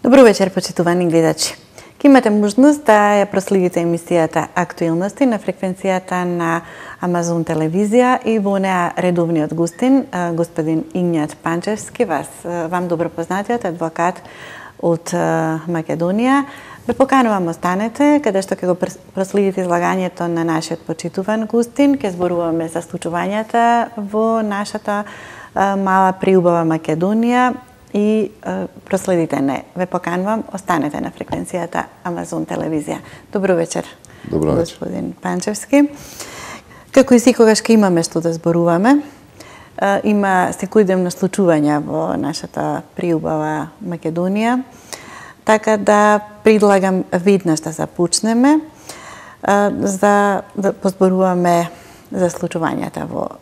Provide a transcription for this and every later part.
Добро вечер, почитувани гледачи. Ке имате можност да ја проследите емисијата Актуелности на фреквенцијата на Амазон телевизија и во неа редовниот гостин, господин Игњат Панчевски, вам добро познатиот адвокат од Македонија. Ве поканувам останете, каде што ќе го проследите излагањето на нашиот почитуван гостин. Ќе зборуваме за случувањата во нашата мала приубава Македонија и проследите не. Ве поканувам, останете на фреквенцијата Амазон телевизија. Добро вечер, Добро вечер, господин Панчевски. Како и секогаш ке имаме што да зборуваме. Има секојдневно случувања во нашата приубава Македонија. Така да предлагам веднаш да започнеме за да позборуваме за случувањата во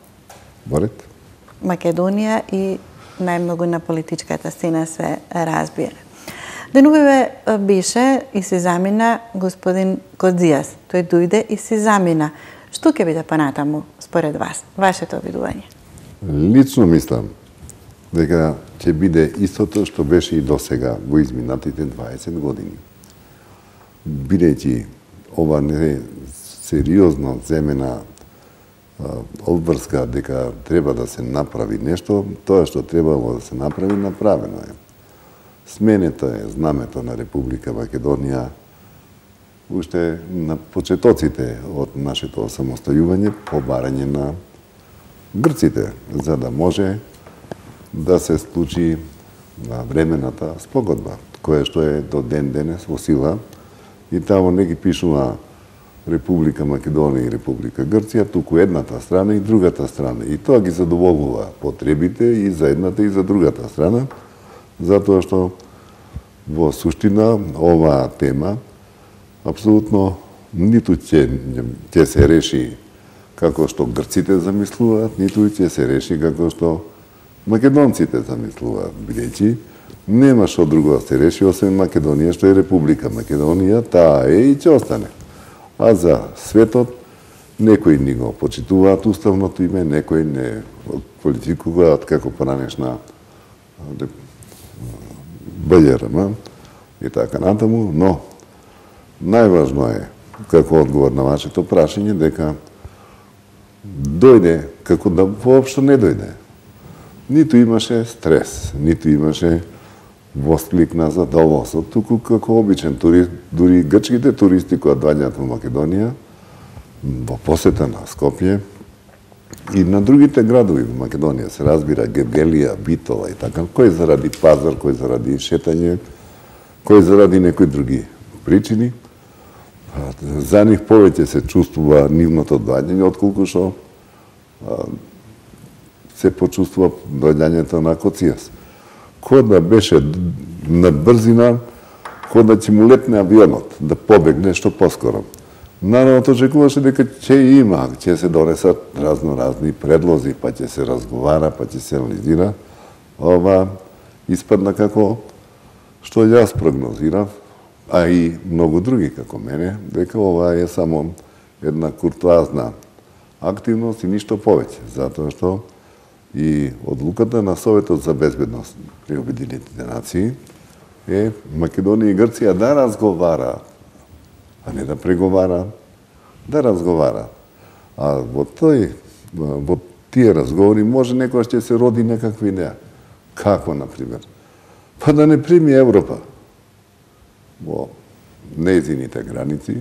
Македонија и најмногу на политичката сцена се разбира. Денувиве беше и се замина господин Кодзијас. Тој дојде и се замина. Што ќе биде понатаму според вас? Вашето видување? Лично мислам дека ќе биде истото што беше и досега во изминатите 20 години. Бидејќи ова не е сериозно земена одврска дека треба да се направи нешто, тоа што требало да се направи, направено е. Сменето е знамето на Република Македонија уште на почетоците од нашето самостојување по барање на грците, за да може да се случи времената спогодба, која што е до ден денес во сила, и тамо не ги пишува Република Македонија и Република Грција, туку едната страна и другата страна. И тоа ги задоволува потребите и за едната и за другата страна, затоа што во суштина оваа тема апсолутно ниту ќе се реши како што грците замислуваат, ниту ќе се реши како што македонците замислуваат, бидејќи нема што друго да се реши освен Македонија, што е Република Македонија, таа е и ќе остане. А за светот, некои ни го почитуваат уставното име, некои не квалификуваат како поранешна БљРМ и така натаму, но најважно е, како одговор на вашето прашање, дека дојде како да воопшто не дојде. Ниту имаше стрес, ниту имаше восклик на задоволство, туку како обичен турист, дури грчките туристи кои доаѓаат во Македонија, во посета на Скопје и на другите градови во Македонија, се разбира Гевгелија, Битола и така, кој заради пазар, кој заради шетање, кој заради некои други причини, за нив повеќе се чувствува нивното доаѓање, отколку што се почувствува доаѓањето на Коцијас. Кога да беше на брзина, кога да ќе му летне авионот, да побегне што поскоро. Народот очекуваше дека ќе има, ќе се донесат разни предлози, па ќе се разговара, па ќе се анализира. Ова испадна како што јас прогнозирав, а и многу други како мене, дека ова е само една куртоазна активност и ништо повеќе, затоа што и одлуката на Советот за безбедност при Обединетите нации е Македонија и Грција да разговараат, а не да преговараат, да разговараат. А во тие разговори може некојаш ќе се роди некаква идеја. Како, например? Па да не прими Европа во нејзините граници,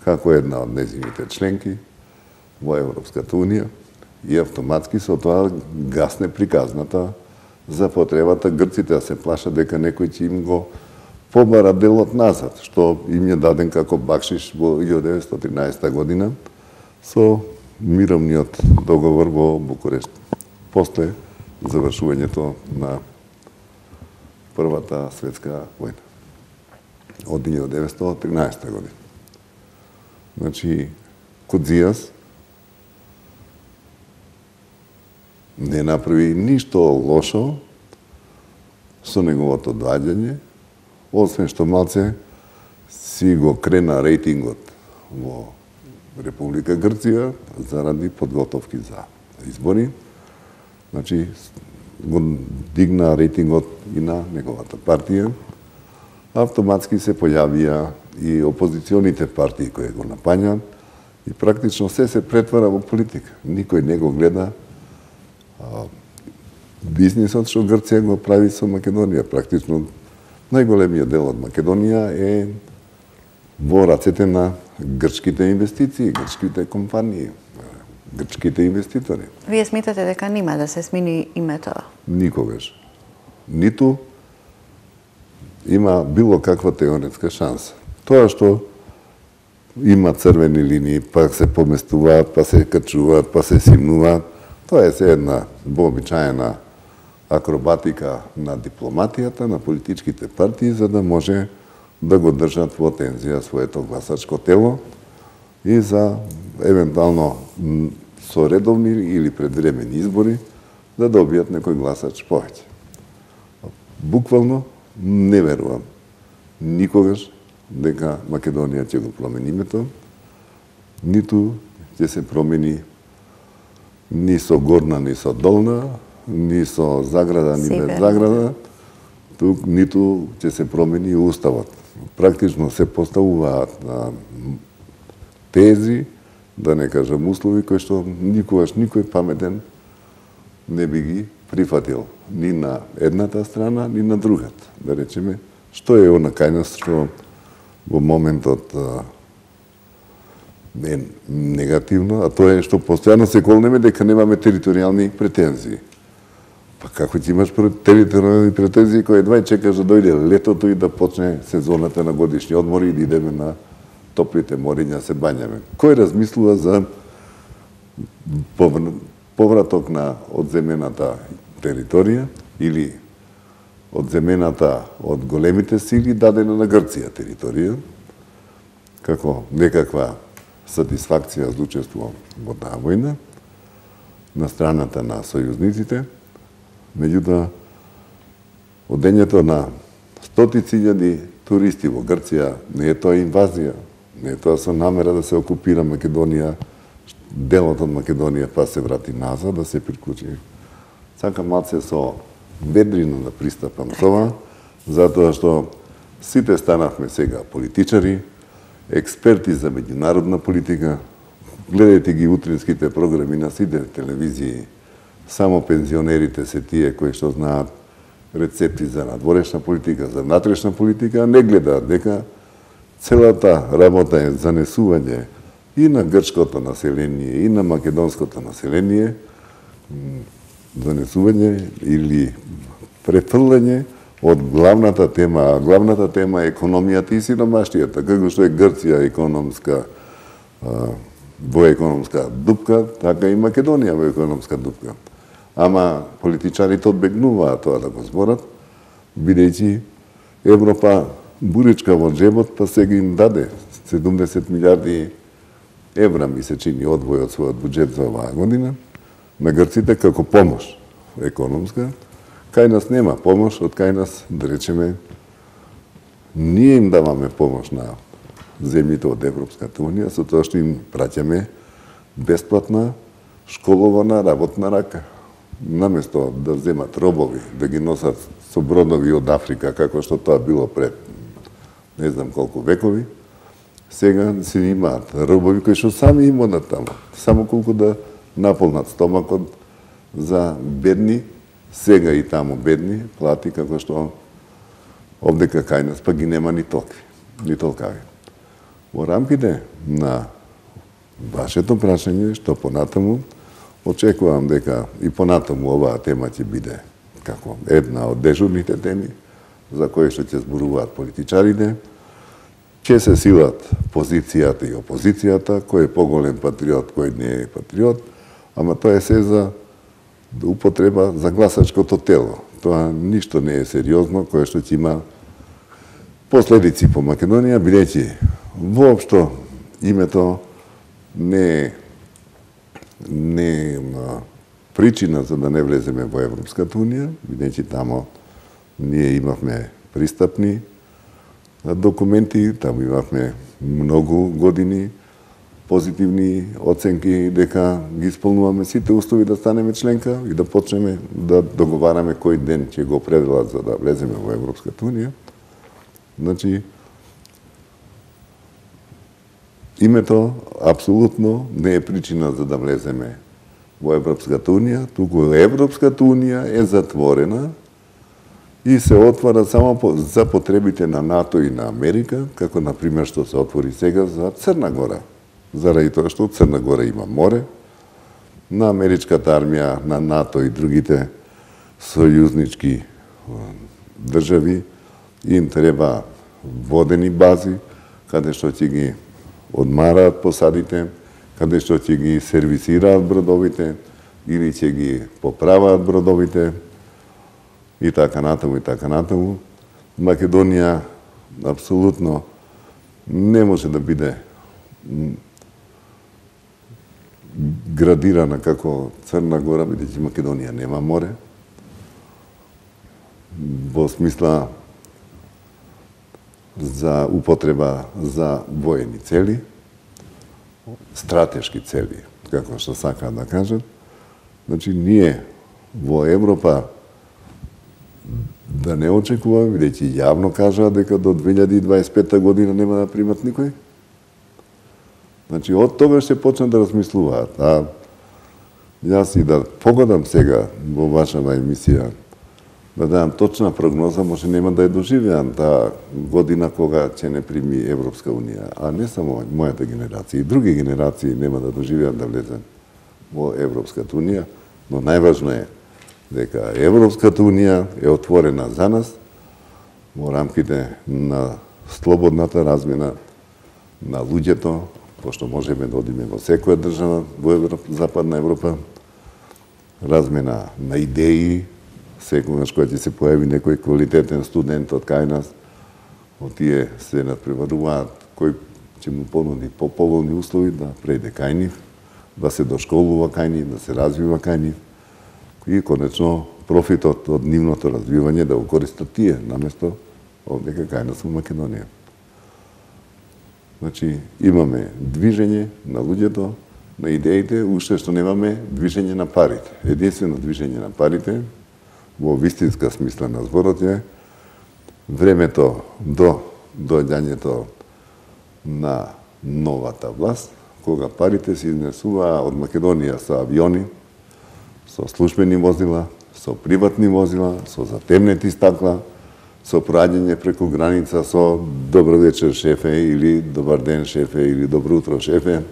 како една од нејзините членки во Европската Унија, и автоматски со тоа гасне приказната за потребата грците да се плашат дека некој ќе им го побара делот назад, што им е даден како бакшиш во 1913 година со мировниот договор во Букурешт, после завршувањето на Првата светска војна од 1913 година. Значи, Кодзијас не направи ништо лошо со неговото доаѓање, освен што малце си го крена рейтингот во Република Грција заради подготовки за избори. Значи, го дигна рейтингот и на неговата партија, автоматски се појавија и опозиционите партии кои го напањаат и практично се претвара во политика. Никој не го гледа бизнисот што Грција го прави со Македонија. Практично најголемиот дел од Македонија е во рацете на грчките инвестиции, грчките компании, грчките инвеститори. Вие смитате дека нема да се смени името? Никогаш. Ниту има било каква теоретска шанса. Тоа што има црвени линии, па се поместуваат, па се качуваат, па се симнуваат, тоа е се една вообичаена акробатика на дипломатијата, на политичките партии, за да може да го држат во тензија своето гласачко тело и за евентуално со редовни или предвремени избори да добијат некој гласач повеќе. Буквално не верувам никогаш дека Македонија ќе го промени името, ниту ќе се промени ни со горна, ни со долна, ни со заграда, ни без заграда, тук ниту ќе се промени уставот. Практично се поставуваат тези, да не кажам услови, кои што никогаш никој паметен не би ги прифатил ни на едната страна, ни на другата. Да речеме, што е она кај нас што во моментот е негативно, а тоа е што постојано се колнеме дека немаме територијални претензии. Па како ќе имаш територијални претензии кои едва чекаш да дојде летото и да почне сезоната на годишни одмори и да идеме на топлите мориња се бањаме? Кој размислува за повраток на одземената територија или одземената од големите сили дадена на Грција територија, како некаква сатисфакција за учество во таа војна на страната на сојузниците, меѓутоа одењето на стотици илјади туристи во Грција не е тоа инвазија, не е тоа со намера да се окупира Македонија, делот од Македонија па се врати назад, да се приклучи. Сакам малце со ведрина да пристапам тоа, затоа што сите станавме сега политичари, експерти за меѓународна политика, гледајте ги утринските програми на сите телевизии, само пензионерите се тие кои што знаат рецепти за надворешна политика, за внатрешна политика, не гледаат дека целата работа е занесување и на грчкото население, и на македонското население, занесување или префрлање од главната тема, а главната тема е економијата и сиромаштијата, како што е Грција економска, во економска дупка, така и Македонија во економска дупка. Ама политичарите одбегнуваат тоа да го зборат, бидејќи Европа буричка во джебот, па сега им даде 70 милиарди евра, ми се чини, одвој од својот буџет за оваа година, на грците како помош економска. Кај нас нема помош, од кај нас, да речеме, ние им даваме помош на земјите од Европската Унија, со тоа што им праќаме бесплатна школована работна рака. Наместо да земат робови, да ги носат со бродови од Африка, како што тоа било пред не знам колку векови, сега се имаат робови кои што сами им одат таму, само колку да наполнат стомакот за бедни, сега и таму бедни, плати како што овдека кај нас па ги нема ни толкви, ни толкави. Во рамките на вашето прашање, што понатаму, очекувам дека и понатаму оваа тема ќе биде како една од дежурните теми за кои што ќе зборуваат политичарите, ќе се силат позицијата и опозицијата, кој е поголем патриот, кој не е патриот, ама тоа е се за употреба за гласачкото тело. Тоа ништо не е сериозно, кое што ќе има последици по Македонија, бидејќи воопшто името не е причина за да не влеземе во Европската Унија, бидејќи тамо ние имавме пристапни документи, таму имавме многу години позитивни оценки дека ги исполнуваме сите услови да станеме членка и да почнеме да договараме кој ден ќе го определат за да влеземе во Европската Унија. Значи, името апсолутно не е причина за да влеземе во Европската Унија, туку Европската Унија е затворена и се отвара само за потребите на НАТО и на Америка, како например што се отвори сега за Црна Гора. Заради тоа што Црна Гора има море, на америчката армија, на НАТО и другите сојузнички држави им треба водени бази, каде што ќе ги одмараат посадите, каде што ќе ги сервисираат бродовите или ќе ги поправаат бродовите и така натаму и така натаму. Македонија апсолутно не може да биде градирана како Црна Гора, бидејќи Македонија нема море. Во смисла за употреба за воени цели, стратешки цели, како што сакаат да кажат. Значи, ние во Европа да не очекуваме, бидејќи јавно кажаа дека до 2025 година нема да примат никој. Значи, од тогаш ќе почнат да размислуваат. А јас и да погодам сега во вашава емисија, да дадам точна прогноза, може нема да ја доживеам таа година кога ќе не прими Европска Унија, а не само мојата генерација, и други генерации нема да доживеат да влезат во Европската Унија, но најважно е дека Европската Унија е отворена за нас во рамките на слободната размена на луѓето, пошто можеме да одиме во секоја држава во Западна Европа, размена на идеи, секогаш кога ќе се појави некој квалитетен студент од кај нас, од тие се надпреваруваат кој ќе му понуди поповолни услови да прејде кај нив, да се дошколува кај нив, да се развива кај нив и конечно профитот од нивното развивање да го користат тие, наместо овдека кај нас во Македонија. Значи, имаме движење на луѓето, на идеите, уште што немаме движење на парите. Единствено движење на парите, во вистинска смисла на зборот е времето до доаѓањето на новата власт, кога парите се изнесуваа од Македонија со авиони, со службени возила, со приватни возила, со затемнети стакла, со проаѓање преку граница со добро вечер шефе или добар ден шефе или добро утро шефе,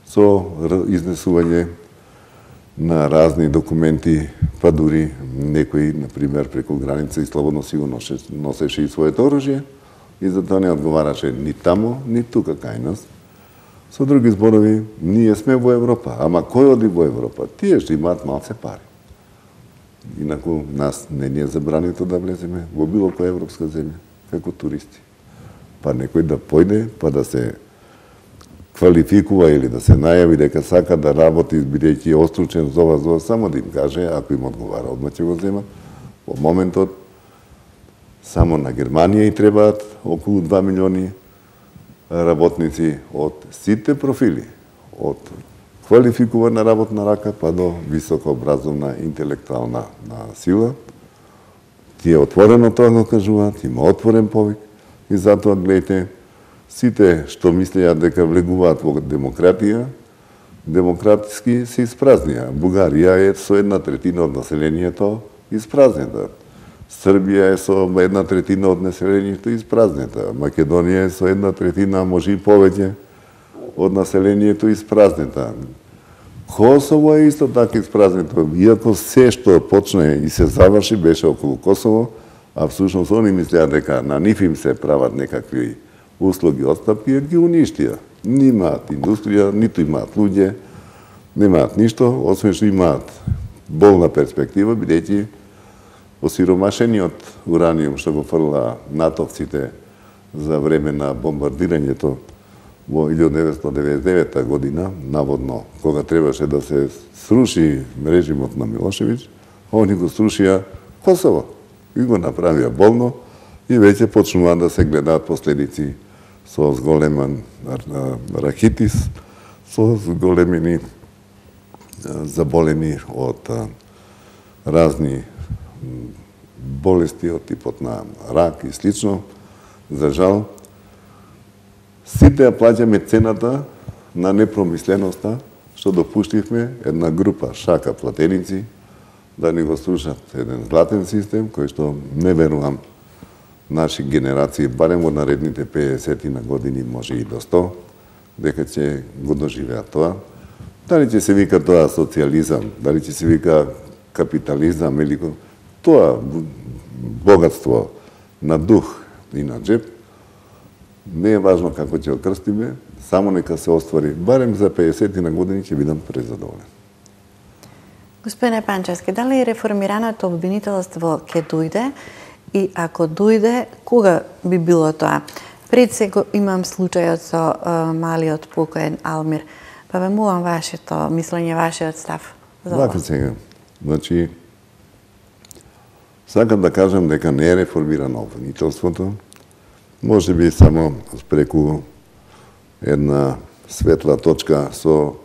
со изнесување на разни документи, па дури некој, например, преку граница и слободно си го носеше и своето оружје и затоа не одговараше ни тамо, ни тука кај нас. Со други зборови, ние сме во Европа, ама кој оди во Европа? Тие што имаат малце пари. Инаку нас не ни е забрането да влеземе во било која европска земја, како туристи. Па некој да појде, па да се квалификува или да се најави дека сака да работи, бидејќи е остручен за ова, само да им каже, ако им одговара, одма ќе го земат. Во моментот, само на Германија и требаат околу 2 милиони работници од сите профили, од квалификувана работна рака па до високообразовна интелектуална сила. Тие отворено тоа го кажуваат, има отворен повик и затоа гледате, сите што мислеа дека влегуваат во демократија, демократски се испразнија. Бугарија е со 1/3 од населението испразнета. Србија е со 1/3 од населението испразнета. Македонија е со 1/3, може и повеќе, од населението испразнета. Косово е исто така испразнето. Иако се што почне и се заврши беше околу Косово, а всушност они мислеа дека на нив им се прават некакви услуги, отстапки, ги уништија. Немаат индустрија, ниту имаат луѓе, немаат ништо, освен што имаат болна перспектива, бидејќи осиромашениот ураниум што го фрла натовците за време на бомбардирањето во 1999 година, наводно, кога требаше да се сруши режимот на Милошевиќ, они го срушија Косово и го направија болно и веќе почнуваат да се гледаат последици со зголемен рахитис, со зголемени заболени од разни болести од типот на рак и слично. За жал, сите ја плаќаме цената на непромисленоста што допуштивме една група шака платеници да ни го слушат еден златен систем кој што не верувам наши генерации, барем во наредните 50 на години, може и до 100, дека ќе го доживеат тоа. Дали ќе се вика тоа социјализам, дали ќе се вика капитализам или тоа богатство на дух и на джеп, не е важно како ќе окрстиме, само нека се оствари, барем за 50 на години ќе бидам презадоволен. Господине Панчевски, дали реформираното обвинителство ќе дојде и ако дојде, кога би било тоа? Пред сега имам случајот со малиот покоен Алмир. Па ве молам вашето мислење, вашиот став за ова. Вака сега. Значи, сакам да кажам дека не е реформирано обвинителството. Може би само преку една светла точка со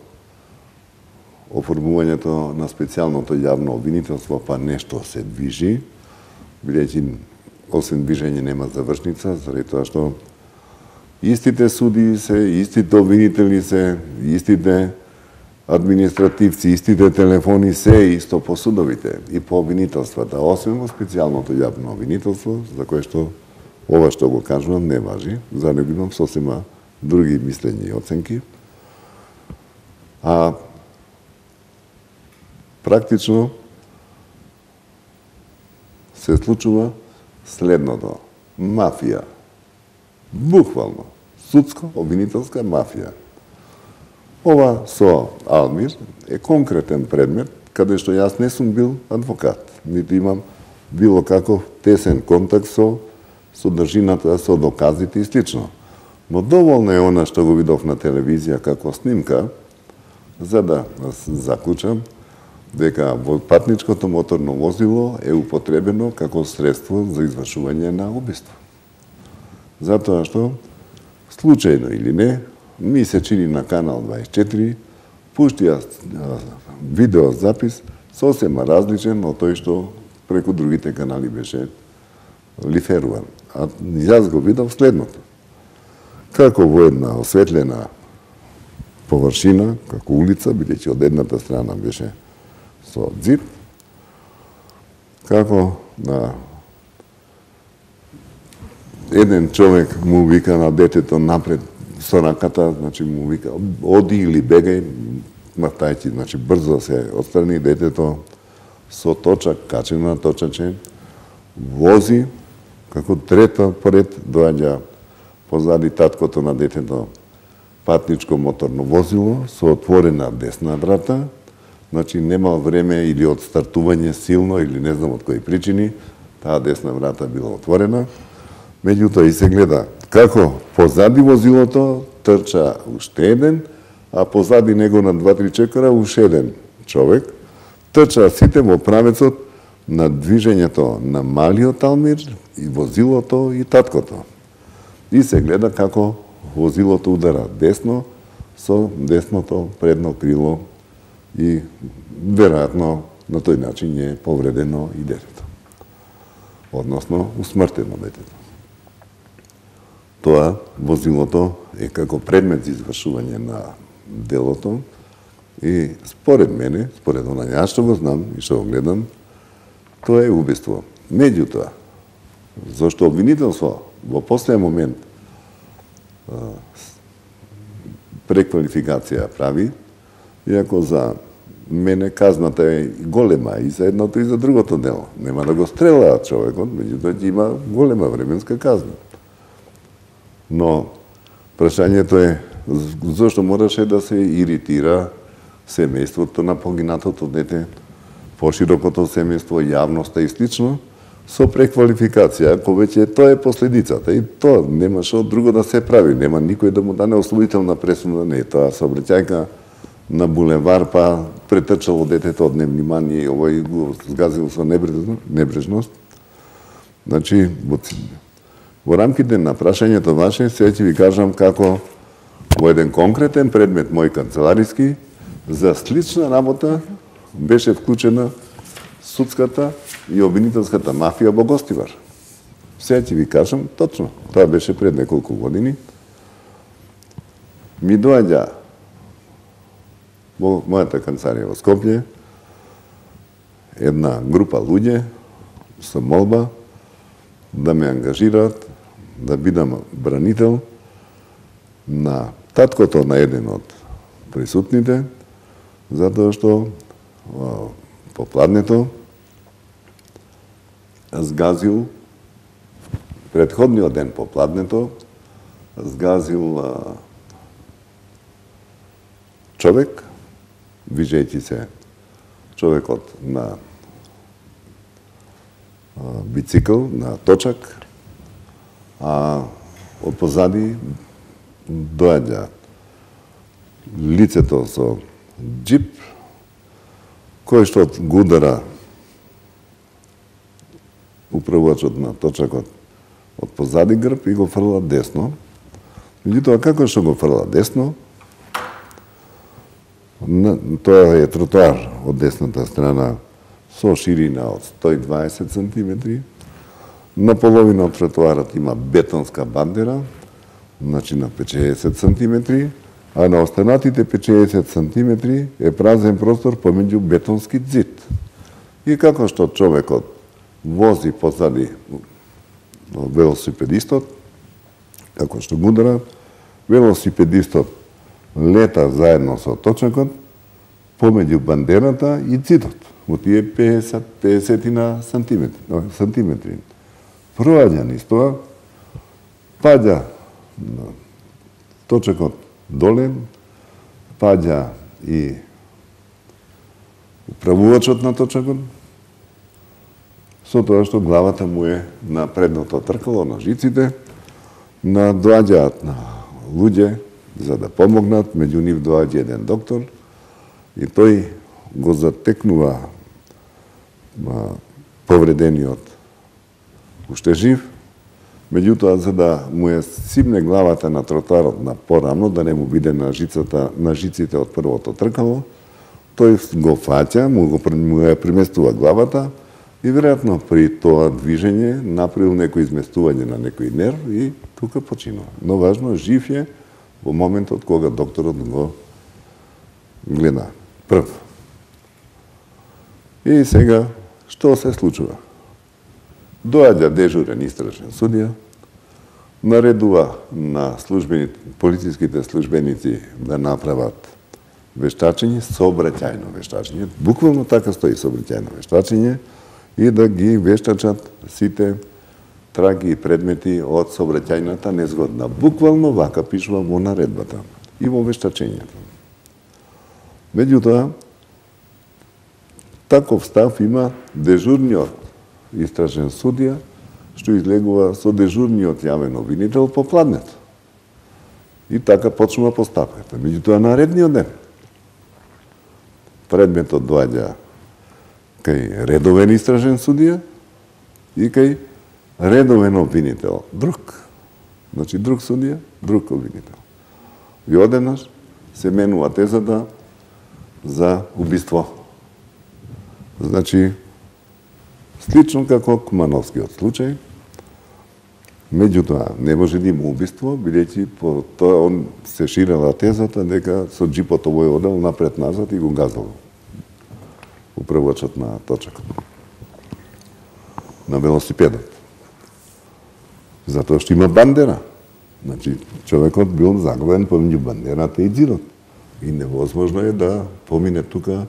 оформувањето на специјалното јавно обвинителство, па нешто се движи, бидејќи освен движење нема завршница, заради тоа што истите суди се, истите обвинители се, истите административци, истите телефони се исто по судовите и по обвинителствата, освен во специјалното јавно обвинителство, за кое што ова што го кажувам не важи, за него имам сосема други мислења и оценки. А практично се случува следното. Мафија. Буквално. Судско-обвинителска мафија. Ова со Алмир е конкретен предмет, каде што јас не сум бил адвокат, ниту имам било каков тесен контакт со содржината, со доказите и слично. Но доволно е она што го видов на телевизија како снимка, за да заклучам дека патничкото моторно возило е употребено како средство за извршување на убиство. Затоа што, случајно или не, ми се чини на Канал 24, пуштија видеозапис сосема различен од тој што преку другите канали беше лиферуван. А јас го видов следното. Како во една осветлена површина, како улица, бидејќи од едната страна беше со ѕип, како на еден човек му вика на детето напред со раката, значи му вика оди или бегај, мартајќи, значи брзо се отстрани детето со точак, качено на точаче, вози, како трета поред доаѓа позади таткото на детето патничко моторно возило со отворена десна врата, значи нема време или од стартување силно или не знам од кои причини, таа десна врата била отворена. Меѓутоа и се гледа како позади возилото трча уште еден, а позади него на 2-3 чекора уште еден човек, трча сите во правецот на движењето на малиот Алмир и возилото и таткото. И се гледа како возилото удара десно со десното предно крило и веројатно на тој начин е повредено и детето. Односно, усмртено детето. Тоа возилото е како предмет за извршување на делото и според мене, според онај јас што го знам и што го гледам, тоа е убиство. Меѓутоа, зашто обвинителство во последен момент преквалификација прави, иако за мене казната е голема и за едното и за другото дело. Нема да го стрелаат човекот, меѓутоа ќе има голема временска казна. Но прашањето е зашто мораше да се иритира семејството на погинатото дете, поширокото семејство, јавноста и слично, со преквалификација, ако веќе тоа е последицата. И тоа нема што друго да се прави, нема никој да му дане осудителна пресуда, не е тоа сообраќајка на булевар, па претрчало детето од невнимание и овој го згазил со небрежност. Значи, во рамките на прашањето ваше, сега ќе ви кажам како во еден конкретен предмет мој канцелариски, за слична работа беше вклучена судската и обвинителската мафија во Гостивар. Сега ќе ви кажам точно. Тоа беше пред неколку години. Ми доаѓа во мојата канцеларија во Скопје една група луѓе со молба да ме ангажираат да бидам бранител на таткото на еден од присутните, затоа што попладнето згазил предходниот ден попладнето згазил човек, вижејќи се човекот на бицикл, на точак, а од позади доаѓа лицето со джип, кој што го удара управувачот на точакот од позади грб и го фрла десно. Меѓутоа, како што го фрла десно, тоа е тротоар од десната страна со ширина од 120 см. На половина од тротоарот има бетонска бандера, значи на 50 см, а на останатите 50 см е празен простор помеѓу бетонски зид. И како што човекот вози позади велосипедистот, како што го удара, велосипедистот лета заедно со точакот помеѓу бандерата и зидот во тие 50 сантиметри. Проаѓа низ тоа, паѓа точакот доле, паѓа и управувачот на точакот, со тоа што главата му е на предното тркало, на жиците, доаѓаат на луѓе за да помогнат, меѓу нив доаѓа еден доктор и тој го затекнува повредениот уште жив, меѓутоа за да му е сипне главата на тротоарот на порано, да не му биде на жиците од првото тркало, тој го фаќа, му ја преместува главата и веројатно при тоа движење направил некој изместување на некој нерв и тука починува. Но важно, жив е во моментот кога докторот го гледа прв. И сега, што се случува? Доаѓа дежурен истражен судија, наредува на полициските службеници да направат вештачење, сообраќајно вештачење, буквално така стои сообраќајно вештачење, и да ги вештачат сите траги и предмети од сообраќајната незгодна. Буквално вака пишува во наредбата и во вештачењето. Меѓутоа, таков став има дежурниот истражен судија, што излегува со дежурниот јавен обвинител по пладнето. И така почнува постапката. Меѓутоа, наредниот ден предметот доаѓа кај редовен истражен судија и кај редовен обвинител. Друг. Значи, друг судија, друг обвинител. И одеднаш се менува тезата за убиство. Значи, слично како Кумановскиот случај, меѓутоа не може да има убиство, бидејќи по тоа он се ширела тезата дека со джипот овој одел напред-назад и го газал управувачот на точакот на велосипедот. Затоа што има бандера. Значи, човекот бил заглавен помеѓу бандерата и зидот. И невозможно е да помине тука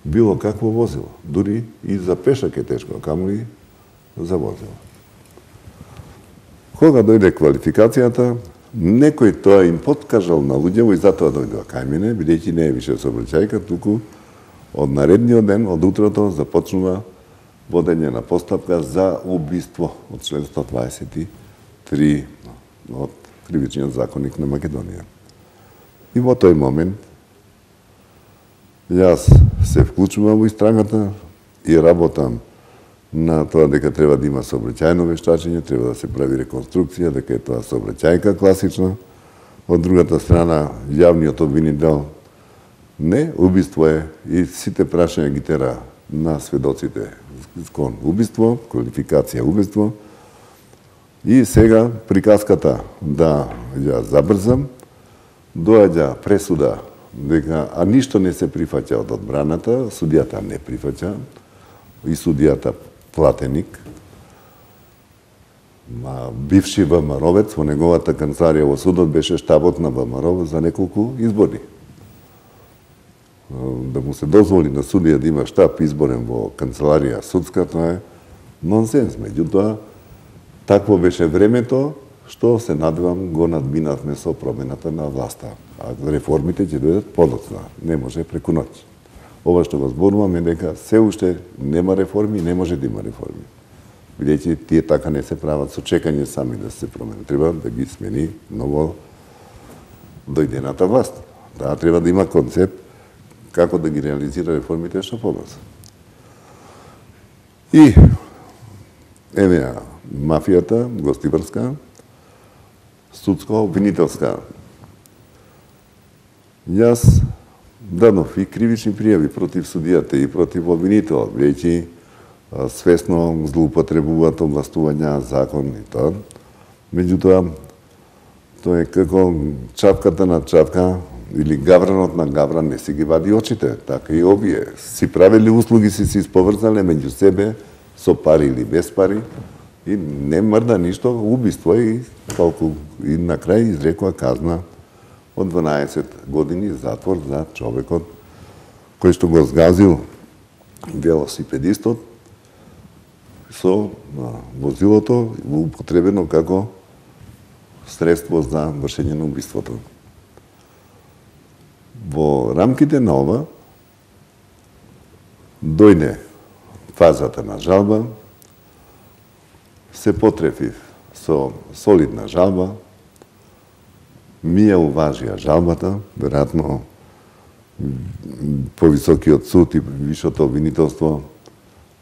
било какво возило. Дури и за пешак е тешко, камоли за возило. Кога дојде квалификацијата, некој тоа им подкажал на луѓето и затоа дојдоа кај мене, бидејќи не е више сообраќајка, туку од наредниот ден, од утрото, започнува водење на постапка за убиство од член 123 од Кривичниот законник на Македонија. И во тој момент јас се вклучувам во истрагата и работам на тоа дека треба да има сообраќајно вештачење, треба да се прави реконструкција, дека е тоа сообраќајка класична. Од другата страна, јавниот обвинител не, убиство е и сите прашања ги тера на сведоците кон убиство, квалификација убиство. И сега приказката да ја забрзам, доаѓа пресуда дека ништо не се прифаќа од одбраната, судијата не прифаќа и судијата платеник, бивши ВМРО-вец, во неговата канцеларија во судот беше штабот на ВМРО за неколку избори. Да му се дозволи на судија да има штаб изборен во канцеларија судска, тоа е нонсенс. Меѓутоа, такво беше времето, што се надевам го надминавме со промената на власта. А реформите ќе дојдат подоцна, не може преку ноќ. Ова што го зборуваме дека се уште нема реформи, не може да има реформи. Бидејќи тие така не се прават со чекање сами да се промени. Треба да ги смени ново дојдената власт. Таа треба да има концепт како да ги реализира реформите што побрзо. И еве мафијата, гостиварска, судско-обвинителска. Јас дадов и кривични пријави против судијата и против обвинителот, бидејќи свесно злоупотребуваат овластувања, закон и тоа. Меѓутоа, тоа е како чапката на чапка или гавранот на гавран не си ги вади очите. Така и овие. Си правили услуги, си исповрзале меѓу себе, со пари или без пари, и не мрда ништо, убиство и колку и на крај изрекува казна од 12 години затвор за човекот кој што го згазил велосипедистот со возилото употребено како средство за вршење на убиството. Во рамките на ова дојде фазата на жалба, се потрефив со солидна жалба, ми ја уважија жалбата, веројатно повисокиот суд и висшото обвинителство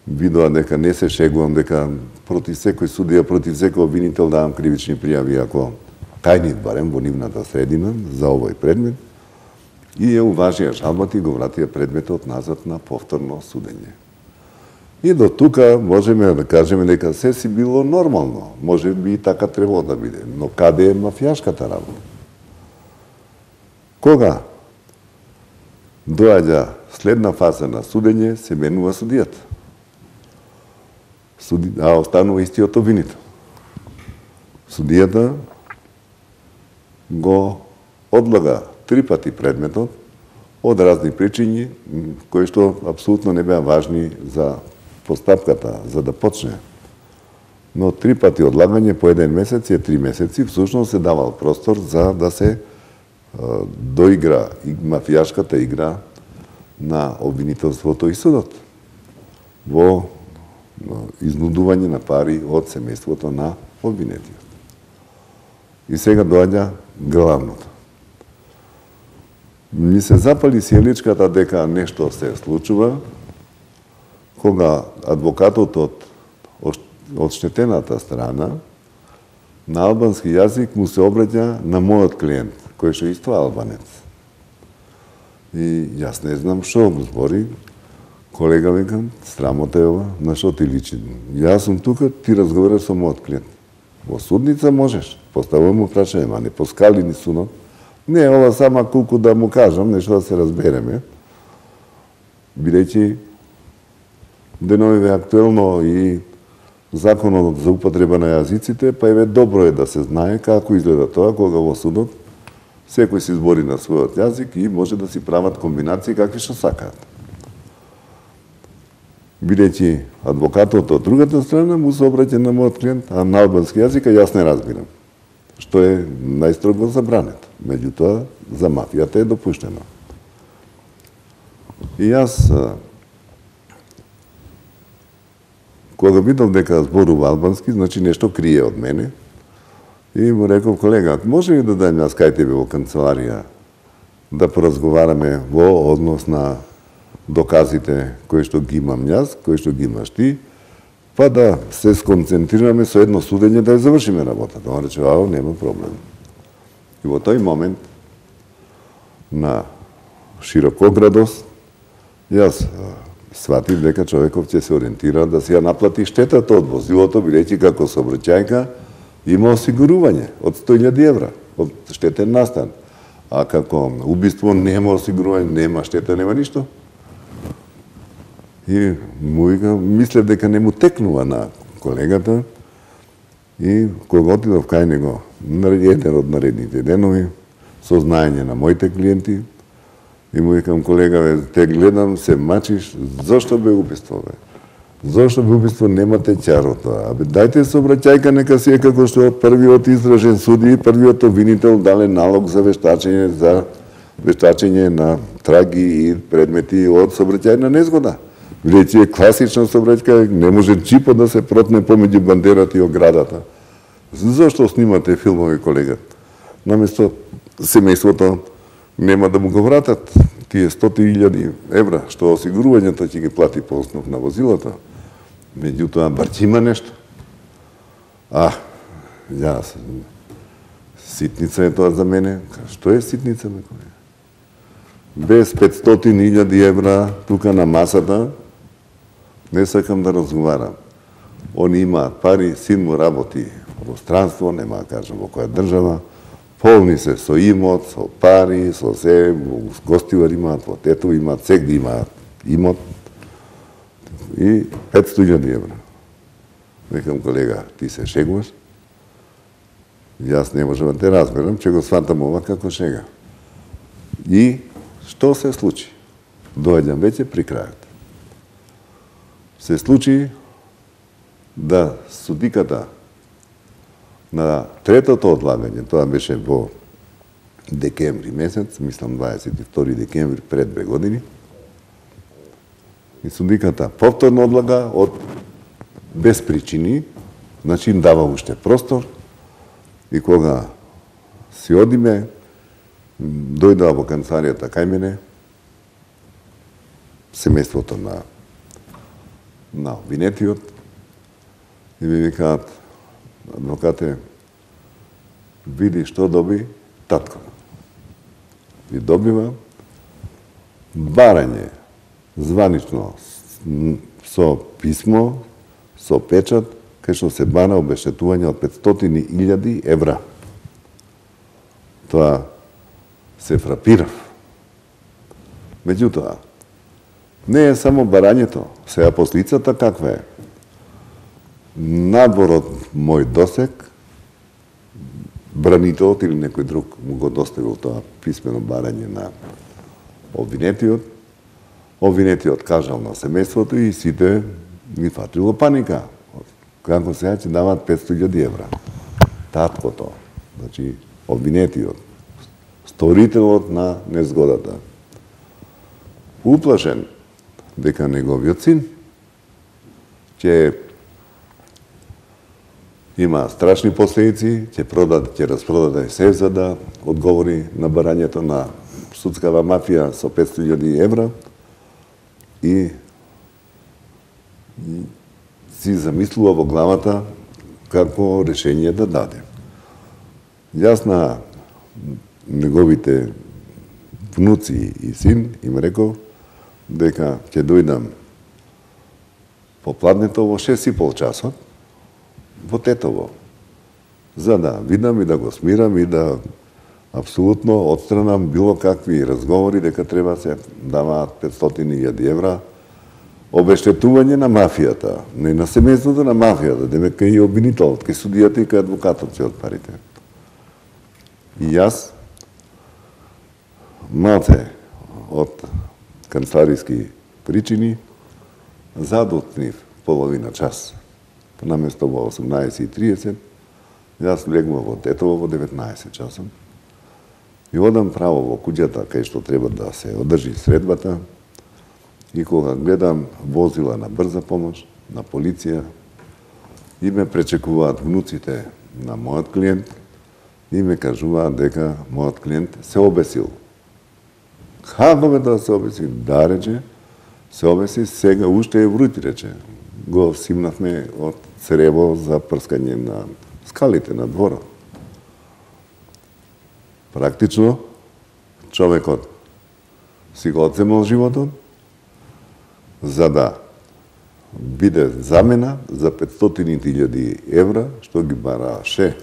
видоа дека не се шегувам, дека против секој судија, против секој обвинител давам кривични пријави, ако кајнив барем во нивната средина за овој предмет, и ја уважија жалбата и го вратија предметот назад на повторно судење. И до тука можеме да кажеме дека се си било нормално, може би и така требало да биде, но каде е мафијашката работа? Кога доаѓа следна фаза на судење, се менува судијата. А останува истиот обвинител. Судијата го одлага 3 пати предметот од разни причини, кои што апсолутно не беа важни за постапката, за да почне. Но 3 пати одлагање по 1 месец и 3 месеци, всушност се давал простор за да се доигра и мафијашката игра на обвинителството и судот во изнудување на пари од семејството на обвинетиот. И сега доаѓа главното. Ми се запали сиеличката дека нешто се случува, кога адвокатот од одштетената страна на албански јазик му се обраќа на мојот клиент, кој што исто албанец. И јас не знам што го збори. Колега викам, срамота е ова, на што ти личи? Јас сум тука, ти разговараш со мојот клиент. Во судница можеш, поставувам му прашање, ма не поскали ни сунот. Не, ова сама колку да му кажам, нешто да се разбереме. Бидејќи деновиве актуелно и законот за употреба на јазиците, па еве добро е да се знае како изгледа тоа кога во судот секој се избори на својот јазик и може да си прават комбинации какви што сакаат. Бидејќи адвокатот од другата страна му се обраќа на мојот клиент, а на албански јазик јас не разбирам, што е најстрого забрането. Меѓутоа, за мафијата е допуштено. И јас, кога видов дека зборува албански, значи нешто крие од мене, и му реков, колега, може ли да дајм јас кај тебе во канцеларија да поразговараме во однос на доказите кои што ги имам јас, кои што ги имаш ти, па да се сконцентрираме со едно судење да ја завршиме работата. Он рече, нема проблем. И во тој момент на широкоградост јас сватив дека човеков ќе се ориентира да си ја наплати штетата од возилото, бидејќи како сообраќајка има осигурување од 100.000 евра од штетен настан. А како убиство нема осигурување, нема штета, нема ништо. И мислев дека не му текнува на колегата и кога отидов кај него еден од наредните денови, со знаење на моите клиенти, и му викам, колега, те гледам, се мачиш, зошто бе убиство, бе? Зошто бе убиство, немате чарото? Абе, дајте сообраќајка, нека си е како што првиот изражен суди, првиот обвинител дале налог за вештачење на траги и предмети од сообраќајна незгода. Речи е класична сообраќајка, не може джипот да се протне помеѓу бандерата и оградата. Зошто снимате филмови, колега? Наместо семејството нема да му го вратат тие 100.000 евра, што осигурувањето ќе ги плати по основ на возилото. Меѓутоа, барчи има нешто. Ситница е тоа за мене. Што е ситница, ме колега? Без 500.000 евра тука на масата, не сакам да разговарам. Они имаат пари, син му работи во странство, нема да кажам во која држава, полни се со имот, со пари, со се, гостивар имаат, во тето имаат, сегде имаат имот и 500.000 евра. Викам, колега, ти се шегуваш? Јас не можам да те разберам, че го сватам ова како шега. И што се случи? Доаѓам веќе при крајот. Се случи да судиката на третото одлагање, тоа беше во декември месец, мислам 22 декември пред 2 години, и судиката повторно одлага без причини, значи им дава уште простор, и кога си одиме, дојдоа во канцеларијата кај мене, семејството на обвинетиот, и ми викаат, адвокате, види што доби татко. И добива барање, званично, со писмо, со печат, кај што се бара обештетување од 500.000 евра. Тоа се фрапирав. Меѓутоа, не е само барањето, сега послицата каква е? Надвор од мој досек, бранителот или некој друг му го доставил тоа писмено барање на обвинетиот. Обвинетиот кажал на семејството и сите ги фатило паника. Како сега ќе дават 500.000 евра. Таткото, значи обвинетиот, сторителот на незгодата, уплашен дека неговиот син ќе има страшни последици, ќе распродаде се за да одговори на барањето на судскава мафија со 500.000 евра и си замислува во главата како решение да даде. Јас на неговите внуци и син им рекол дека ќе дојдам попладнето во 6,5 часот во Тетово, за да видам и да го смирам и да апсолутно отстранам било какви разговори дека треба се даваат 500.000 евра обештетување на мафијата, не на семејството на мафијата, дека и обвинителот, кај судијата и кај адвокатот се од парите. И јас, малце од канцелариски причини, задутнив половина час. Наместо во 18:30, јас легнав во Тетово во 19 часот и одам право во куќата кај што треба да се одржи средбата и кога гледам возила на брза помош, на полиција, и ме пречекуваат внуците на мојот клиент и ме кажуваат дека мојот клиент се обесил. Како бе да се обеси? Да, рече, се обеси, сега уште е врути, рече. Го симнавме од црево за прскање на скалите на дворот. Практично, човекот си го одземал животот, за да биде замена за 500.000 евра, што ги бараше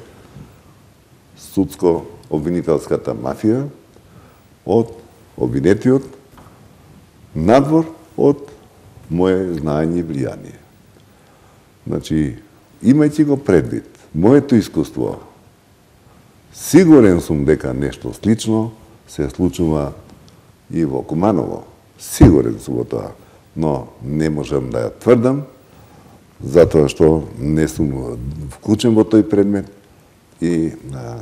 судско-обвинителската мафија од обвинетиот надвор од моje знаење и влијание. Значи, имајќи го предвид моето искуство, сигурен сум дека нешто слично се случува и во Куманово. Сигурен сум во тоа, но не можам да ја тврдам, затоа што не сум вклучен во тој предмет и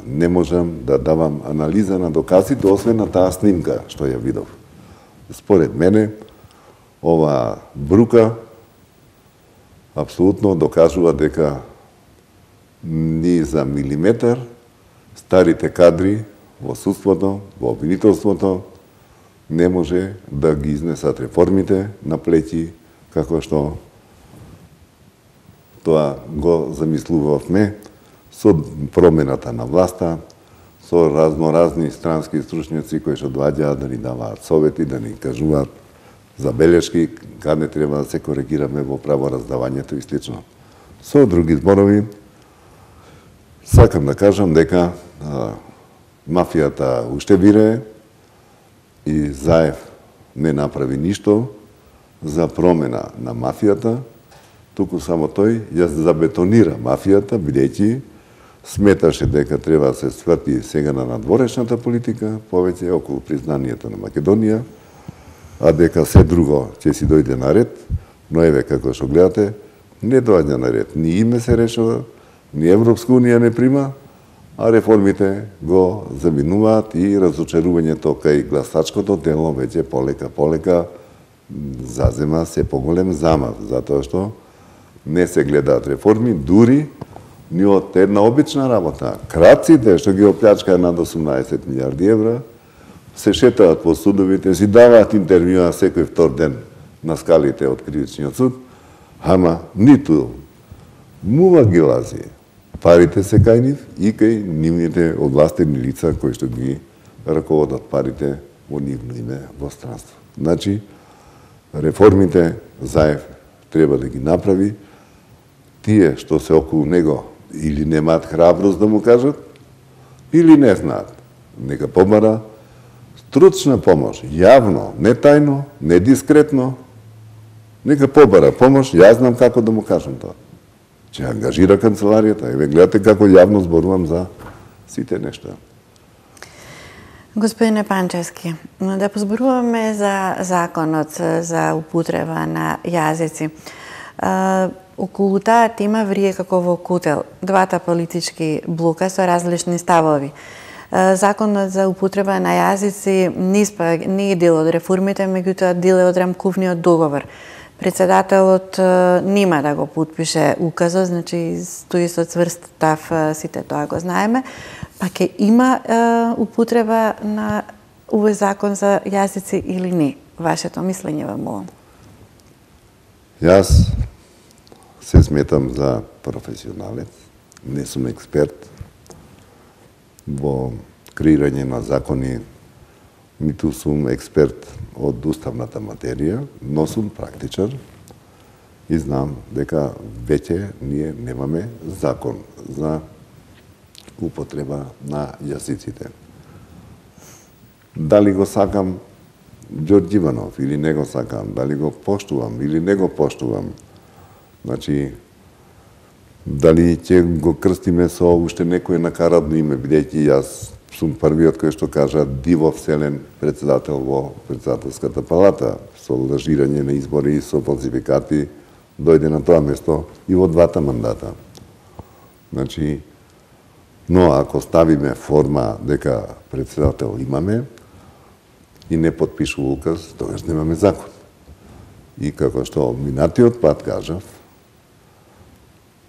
не можам да давам анализа на доказите, освен на таа снимка што ја видов. Според мене, ова брука апсолутно докажува дека ни за милиметар старите кадри во судството, во обвинителството, не може да ги изнесат реформите на плеќи, како што тоа го замислувавме со промената на власта, со разноразни странски стручњаци кои што доаѓаат да ни даваат совети, да ни кажуваат забелешки, каде треба да се коригираме во правораздавањето и слично. Со други зборови, сакам да кажам дека мафијата уште вирее и Заев не направи ништо за промена на мафијата, туку само тој ја забетонира мафијата, бидејќи сметаше дека треба да се сврти сега на надворешната политика, повеќе околу признанието на Македонија, а дека се друго ќе си дојде на ред, но еве како што гледате, не доаѓа на ред. Ни име се решава, ни Европска унија не прима, а реформите го заминуваат и разочарувањето кај гласачкото дело веќе полека зазема се поголем замав, затоа што не се гледаат реформи, дури ни од една обична работа. Крадците што ги оплячкаа над 18 милиарди евра, се шетаат по судовите, си даваат интервјуа секој втор ден на скалите од кривичниот суд, ама ниту мува ги лази. Парите се кај нив и кај нивните овластени лица кои што ги раководат парите во нивно име во странство. Значи, реформите Заев треба да ги направи, тие што се околу него или немаат храброст да му кажат, или не знаат. Нека побара стручна помош, јавно, не тајно, не дискретно, нека побара помош, јас знам како да му кажам тоа. Че ангажира канцеларијата, еве гледате како јавно зборувам за сите нешта. Господине Панчевски, да позборуваме за законот за употреба на јазици. Околу таа тема врие како во кутел двата политички блока со различни ставови. Законот за употреба на јазици не е дел од реформите, меѓутоа дел од рамковниот договор. Председателот нема да го потпише указот, значи стои со цврст став, сите тоа го знаеме, па ќе има употреба на овој закон за јазици или не? Вашето мислење ве молам. Јас се сметам за професионалец, не сум експерт во креирање на закони, ниту сум експерт од уставната материја, но сум практичар и знам дека веќе ние немаме закон за употреба на јазиците. Дали го сакам Ѓорѓ Иванов или не го сакам, дали го поштувам или не го поштувам, значи, дали ќе го крстиме со уште некој накарадно име, бидејќи јас сум првиот кој што кажа диво вселен председател во председателската палата, со лажирање на избори и со фалсификати, дојде на тоа место и во двата мандата. Значи, но ако ставиме форма дека председател имаме и не подпишува указ, тогаш немаме закон. И како што минатиот пат кажав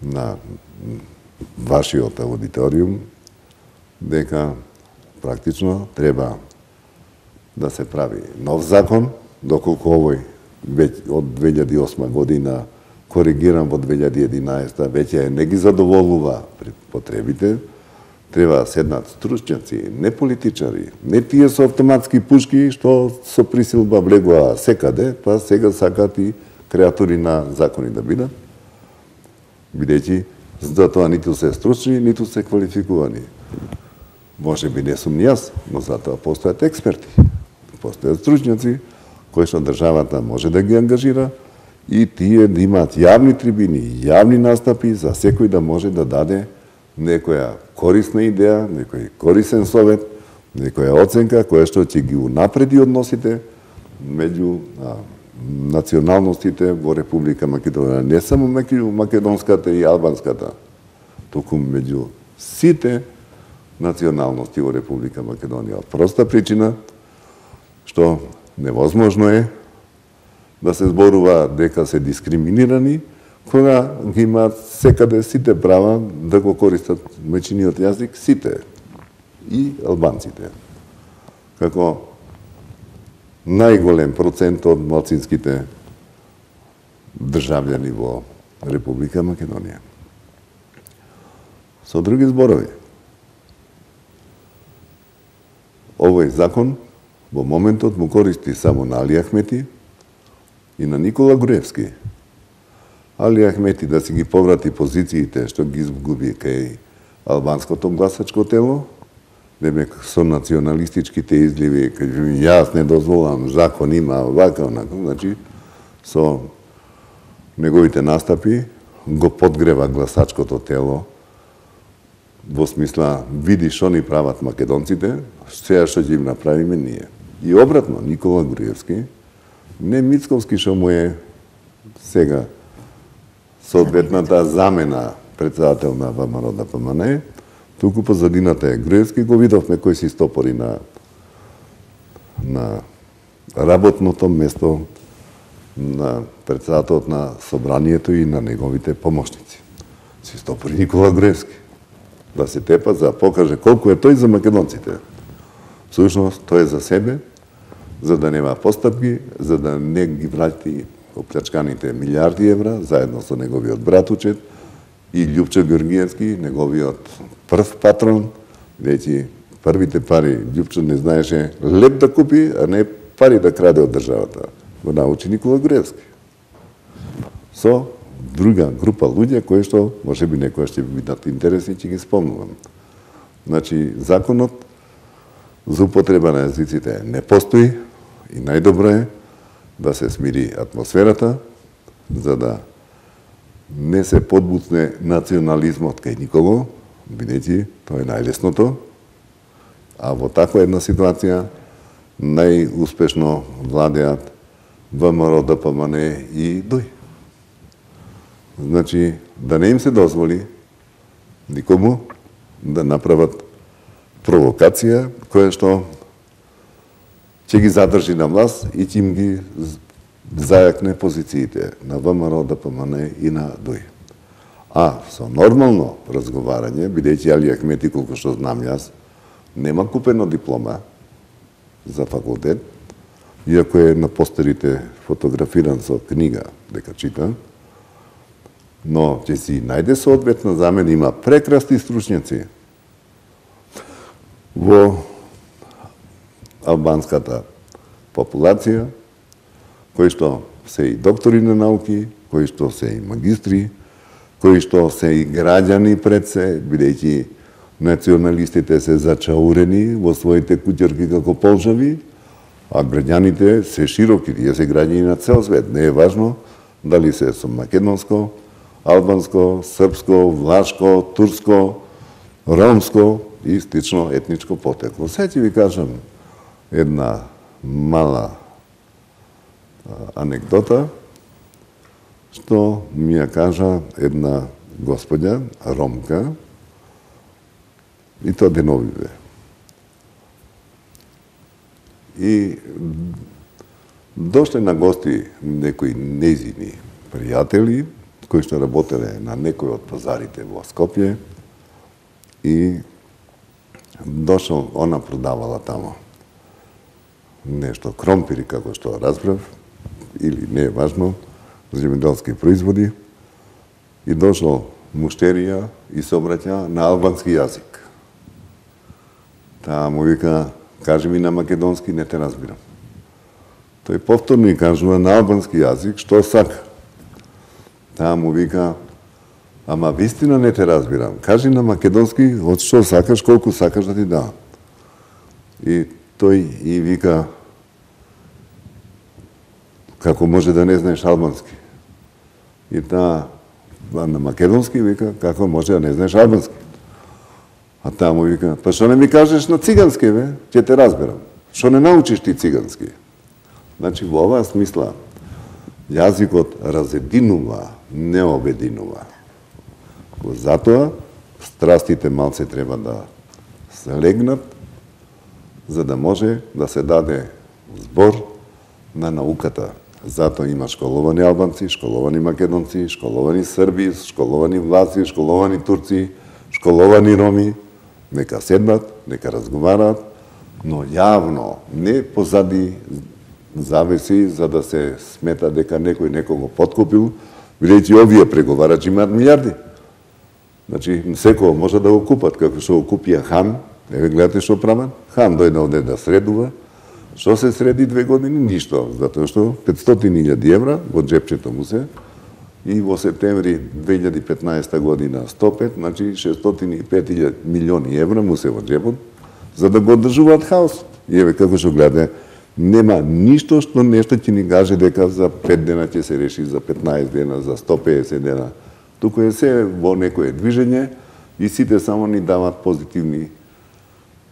на вашиот аудиториум, дека практично треба да се прави нов закон, доколку овој од 2008 година коригиран во 2011 веќе не ги задоволува потребите, треба да седнат стручњаци, не политичари, не тие со автоматски пушки што со присилба влегува секаде, па сега сакат и креатори на закони да бидат, бидејќи за тоа ниту се стручни, ниту се квалификувани. Може би не сум јас, но затоа постојат експерти, постојат стручњаци кои што државата може да ги ангажира и тие да имаат јавни трибини, јавни настапи за секој да може да даде некоја корисна идеја, некој корисен совет, некоја оценка која што ќе ги унапреди односите меѓу националностите во Република Македонија, не само меѓу македонската и албанската, туку меѓу сите националности во Република Македонија. Проста причина што невозможно е да се зборува дека се дискриминирани, кога ги имаат секаде сите права да го користат мајчиниот јазик, сите, и албанците. Како најголем процент од малцинските државјани во Република Македонија. Со други зборови, овој закон во моментот му користи само на Али Ахмети и на Никола Груевски. Али Ахмети да си ги поврати позициите што ги изгуби кај албанското гласачко тело, демек со националистичките изливи, кај јас не дозволам, закон има вака, онака, значи со неговите настапи го подгрева гласачкото тело во смисла види што ни прават македонците, сега што ќе им направиме ние. И обратно, Никола Груевски, не Мицковски што му е сега соодветната замена председател на ВМРО ДПМН, туку позадината е Груевски, го видовме кој си стопори на работното место на председателот на собранието и на неговите помошници. Си стопори Никола Груевски. Да се тепа за покаже колку е тој за македонците. Всушност, тој е за себе, за да нема постапки, за да не ги врати оплячканите милиарди евра, заедно со неговиот братучет и Љупчо Георгиевски, неговиот прв патрон, веќе првите пари Љупчо не знаеше леп да купи, а не пари да краде од државата. Го научи Никола Груевски. Со друга група луѓе кои што можеби некоја ќе бидат интересни, ќе ги спомнувам. Значи, законот за употреба на јазиците не постои и најдобро е да се смири атмосферата, за да не се подбуцне национализмот кај никого, бидејќи тоа е најлесното, а во таква една ситуација најуспешно владеат ВМРО ДПМН и ДОИ. Значи, да не им се дозволи никому да направат провокација која што ќе ги задржи на власт и ќе им ги зајакне позициите на ВМРО ДПМН и на ДОИ. А со нормално разговарање, бидејќи Али Ахмети, колку што знам јас, нема купено диплома за факултет, иако е на постерите фотографиран со книга дека чита, но ќе си најде соодветна замена, има прекрасни стручњаци во албанската популација, кои што се и доктори на науки, кои што се и магистри, кои што се и граѓани пред се, бидејќи националистите се зачаурени во своите куќерки како полжави, а граѓаните се широки, тие се граѓани на цел свет. Не е важно дали се со македонско, албанско, српско, влашко, турско, ромско и слично етничко потекло. Сега ќе ви кажам една мала анекдота, што ми ја кажа една господја, ромка, и тоа деновиве. И дошле на гости некои нејзини пријатели, кои што работеле на некој од пазарите во Скопје, и дошол, она продавала тамо нешто кромпири, како што разбрав, или не е важно, земјоделски производи, и дошол муштерија и се обраќа на албански јазик. Таа му вика, кажи ми на македонски, не те разбирам. Тој повторно и кажува на албански јазик што сака. Таа му вика, ама вистина не те разбирам. Кажи на македонски од што сакаш, колку сакаш да ти дам. И тој и вика, како може да не знаеш албански. И таа на македонски вика, како може да не знаеш албански. А таа му вика, па што не ми кажеш на цигански, бе, ќе те разберам. Што не научиш ти цигански? Значи, во оваа смисла, јазикот разединува, не обединува. Затоа, страстите малце треба да се легнат, за да може да се даде збор на науката. Затоа има школовани албанци, школовани македонци, школовани срби, школовани влаци, школовани турци, школовани роми. Нека седнат, нека разговараат, но јавно, не позади завеси за да се смета дека некој некого подкупил, бидејќи овие преговарачи имаат милиарди. Значи, секој може да го купат, како што го купија Хан. Еве гледате што прават. Хан дојде овде да средува. Што се среди 2 години? Ништо, затоа што 500.000 евра во джепчето му се и во септември 2015 година 105, значи 605 милиони евра му се во джепот, за да го одржуваат хаос. И еве како што гледате, нема ништо што нешто ќе ни каже дека за 5 дена ќе се реши, за 15 дена, за 150 дена. Туку е се во некое движење и сите само ни дават позитивни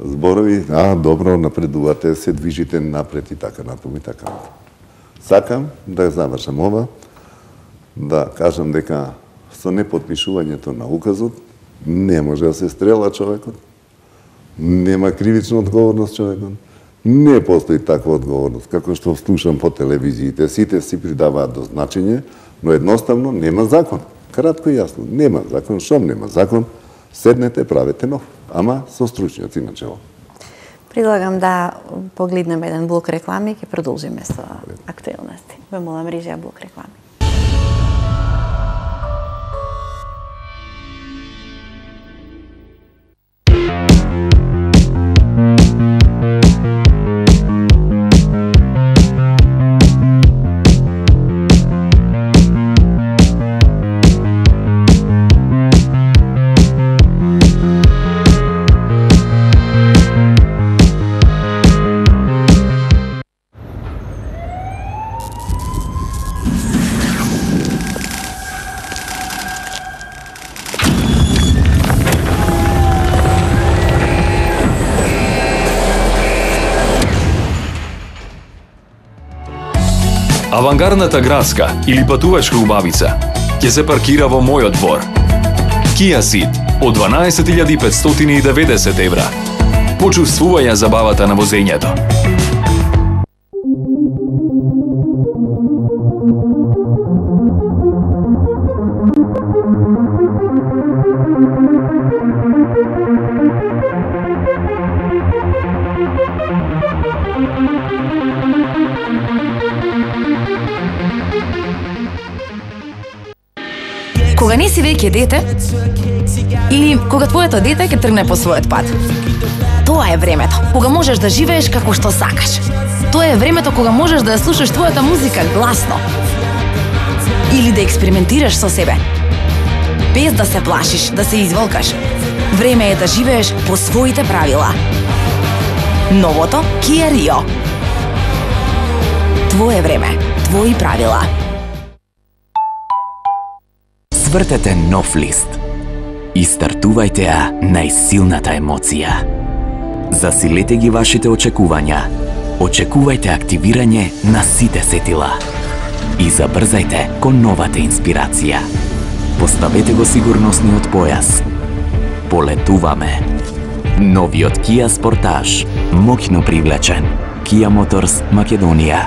зборови, добро, напредувате, се движите напред и така натаму и така натаму. Сакам да завршам ова, да кажам дека со непотпишувањето на указот не може да се стрела човекот, нема кривична одговорност човекот, не постои таква одговорност, како што слушам по телевизиите, сите си придаваат до значење, но едноставно нема закон. Кратко и јасно, нема закон, шом нема закон, седнете, правете нов, ама со стручњаци на чело. Предлагам да погледнеме еден блок реклами и ќе продолжиме со актуелности. Ве молам, режија блок реклами. Авангардната градска или патувачка убавица ќе се паркира во мојот двор. Kia Ceed од 12.590 евра. Почувствувај ја забавата на возењето. Кога не си веќе дете, или кога твоето дете ќе тргне по својот пат. Тоа е времето кога можеш да живееш како што сакаш. Тоа е времето кога можеш да ја слушаш твојата музика гласно. Или да експериментираш со себе. Без да се плашиш, да се изволкаш. Време е да живееш по своите правила. Новото Kia Rio. Твое време, твои правила. Свртете нов лист и стартувајте ја најсилната емоција. Засилете ги вашите очекувања. Очекувајте активирање на сите сетила. И забрзајте кон новата инспирација. Поставете го сигурносниот појас. Полетуваме. Новиот Kia Sportage. Моќно привлечен. Kia Motors Македонија.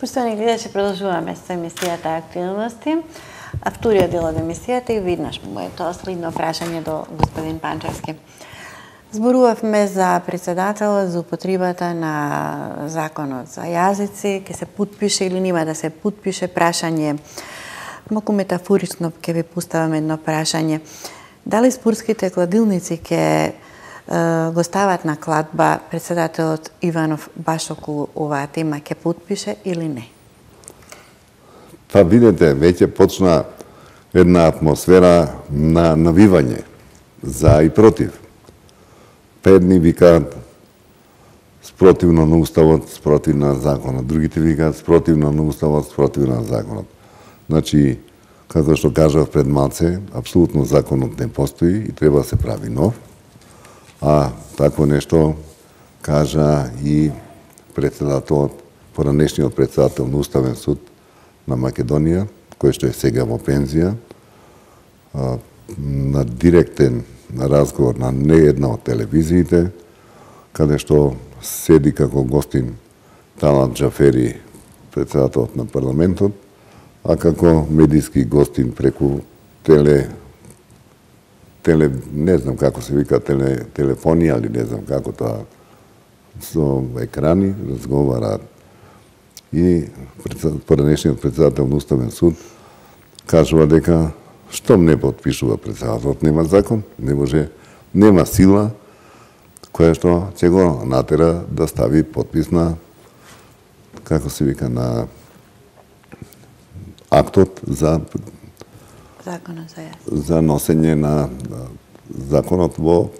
Поштовани гледачи, продолжуваме со емисијата Актуелности. А вториот дел од емисијата и виднаш моето следно прашање до господин Панчевски. Зборувавме за председателот, за употребата на законот за јазици, ќе се потпише или нема да се потпише прашање. Малку метафорично ќе ви поставам едно прашање. Дали спортските кладилници ќе го стават на кладба председателот Иванов баш околу оваа тема ќе потпише или не? Па видите, веќе почна една атмосфера на навивање за и против. Едни викаат спротивно на уставот, спротивно на законот. Другите викаат спротивно на уставот, спротивно на законот. Значи, како што кажав пред малце, апсолутно законот не постои и треба да се прави нов. А такво нешто кажа и председателот, поранешниот председател на Уставен суд на Македонија, кој што е сега во пензија, на директен разговор на не една од телевизиите, каде што седи како гостин Талат Џафери, председателот на парламентот, а како медиски гостин преку не знам како се вика, телефонија или не знам како тоа, со екрани разговараат. И поранешниот председател на Уставен суд кажува дека штом не подпишува председателот, нема закон, не може, нема сила која што ќе го натера да стави подпис на, како се вика, на актот за законот за јазици, за носење на законот во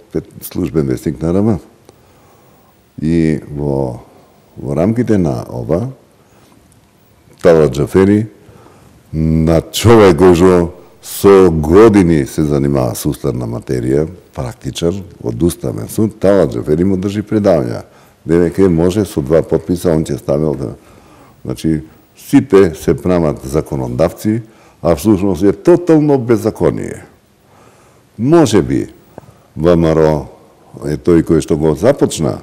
службен весник на РМ. И во рамките на ова, Талат Џафери, на човек кој што со години се занимава со уставна материја, практичар од Уставен суд, Талат Џафери му држи предавања. Дека може со 2 подписа, он ќе ставил да... Значи, сите се прават законодавци, а всушност е тотално беззаконие. Може би ВМРО е тој кој што го започна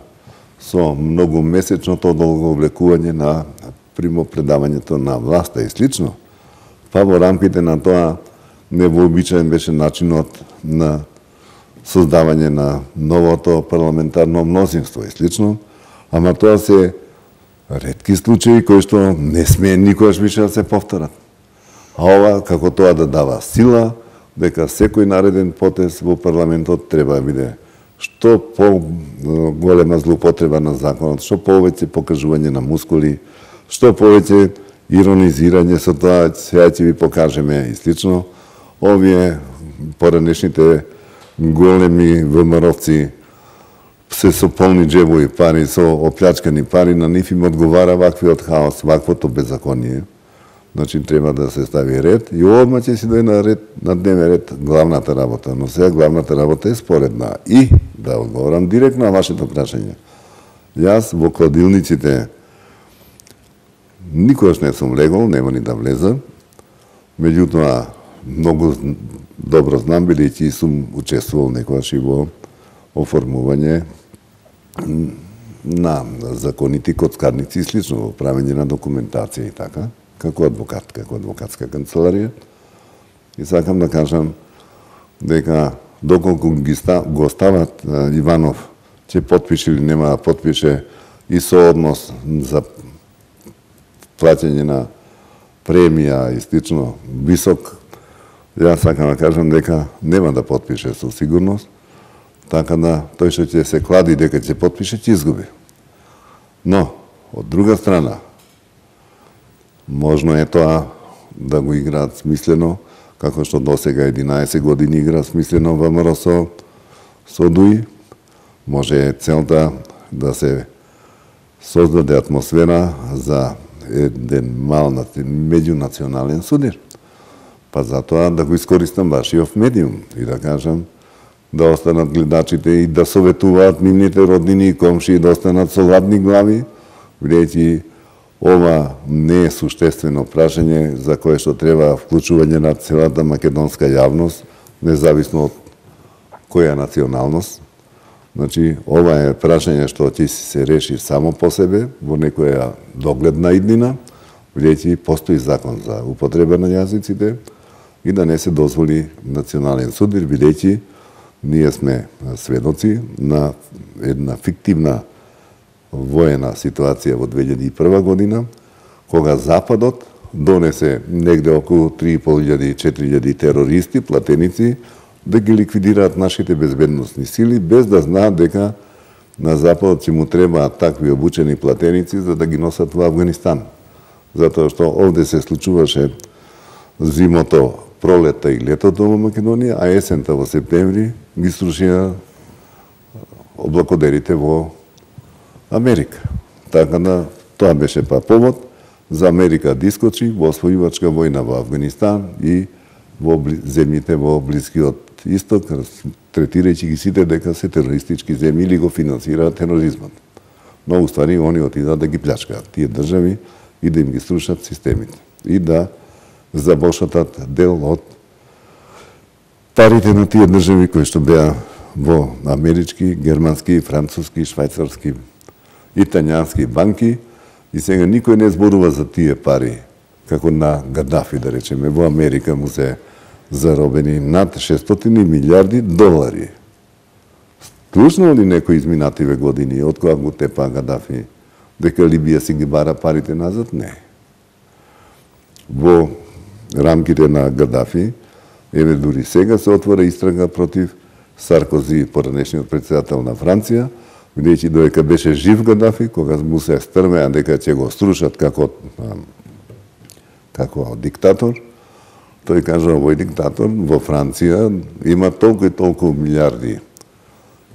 со многумесечното одолговлекување на примопредавањето на власта и слично, па во рамките на тоа невообичаен беше начинот на создавање на новото парламентарно мнозинство и слично, ама тоа се ретки случаи кои што не смее никогаш више да се повторат. А ова, како тоа да дава сила, дека секој нареден потез во парламентот треба да биде што по-голема злоупотреба на законот, што повеќе покажување на мускули, што повеќе иронизирање со тоа, сега ќе ви покажеме и слично. Овие поранешните големи ВМРО-ци се со полни џебови пари, со оплячкани пари, на нив им одговара ваквиот хаос, ваквото беззаконие. Значи, треба да се стави ред и одма ќе си дојде на дневен ред главната работа. Но сега главната работа е споредна. И, да одговорам директно на вашето прашање. Јас во кладилниците никогаш не сум легол, нема ни да влезам. Меѓутоа, многу добро знам, бидејќи сум учествувал некогаш и во оформување на законити коцкарници и слично, во правење на документација и така, како адвокат, како адвокатска канцеларија. И сакам да кажам дека доколку го стават Иванов, ќе потпише или нема да потпише и со однос за плаќање на премија и слично висок, јас сакам да кажам дека нема да потпише со сигурност, така да тој што ќе се клади дека ќе потпише, ќе изгуби. Но, од друга страна, можно е тоа да го играат смислено, како што досега 11 години игра смислено ВМРО со ДУИ. Може целта да се создаде атмосфера за еден мал меѓунационален судир. Па затоа да го искористам вашиот медиум и да кажам да останат гледачите и да советуваат нивните роднини и комшии да останат со ладни глави, бидејќи ова не е суштествено прашање за кое што треба вклучување на целата македонска јавност, независно од која националност. Значи, ова е прашање што ќе се реши само по себе во некоја догледна иднина, бидејќи постои закон за употреба на јазиците и да не се дозволи национален суд, бидејќи ние сме сведоци на една фиктивна воена ситуација во 2001 година, кога Западот донесе негде околу 3.500-4.000 терористи, платеници, да ги ликвидираат нашите безбедносни сили, без да знаат дека на Западот ќе му требаат такви обучени платеници за да ги носат во Авганистан. Затоа што овде се случуваше зимото, пролета и летото во Македонија, а есента во септември ги срушија облакодерите во Америка. Така да тоа беше повод за Америка да искочи во освојувачка војна во Авганистан и во земјите во Блискиот Исток, третирајќи ги сите дека се терористички земји или го финансираат тероризмот. Но уствари они отидат да ги плячкаат тие држави и да им ги срушат системите и да забошатат дел од парите на тие држави кои што беа во амерички, германски, француски, швајцарски, италијански банки и сега никој не зборува за тие пари, како на Гадафи, да речеме, во Америка му се заробени над 600 милиарди долари. Слушнал ли некој изминативе години, од кога го тепа Гадафи, дека Либија си ги бара парите назад? Не. Во рамките на Гадафи, еве дури сега се отвора истрага против Саркози, поранешниот председател на Франција, бидејќи додека беше жив Гадафи, кога му се стрмеа дека ќе го струшат како диктатор, тој кажа овој диктатор во Франција има толку и толку милиарди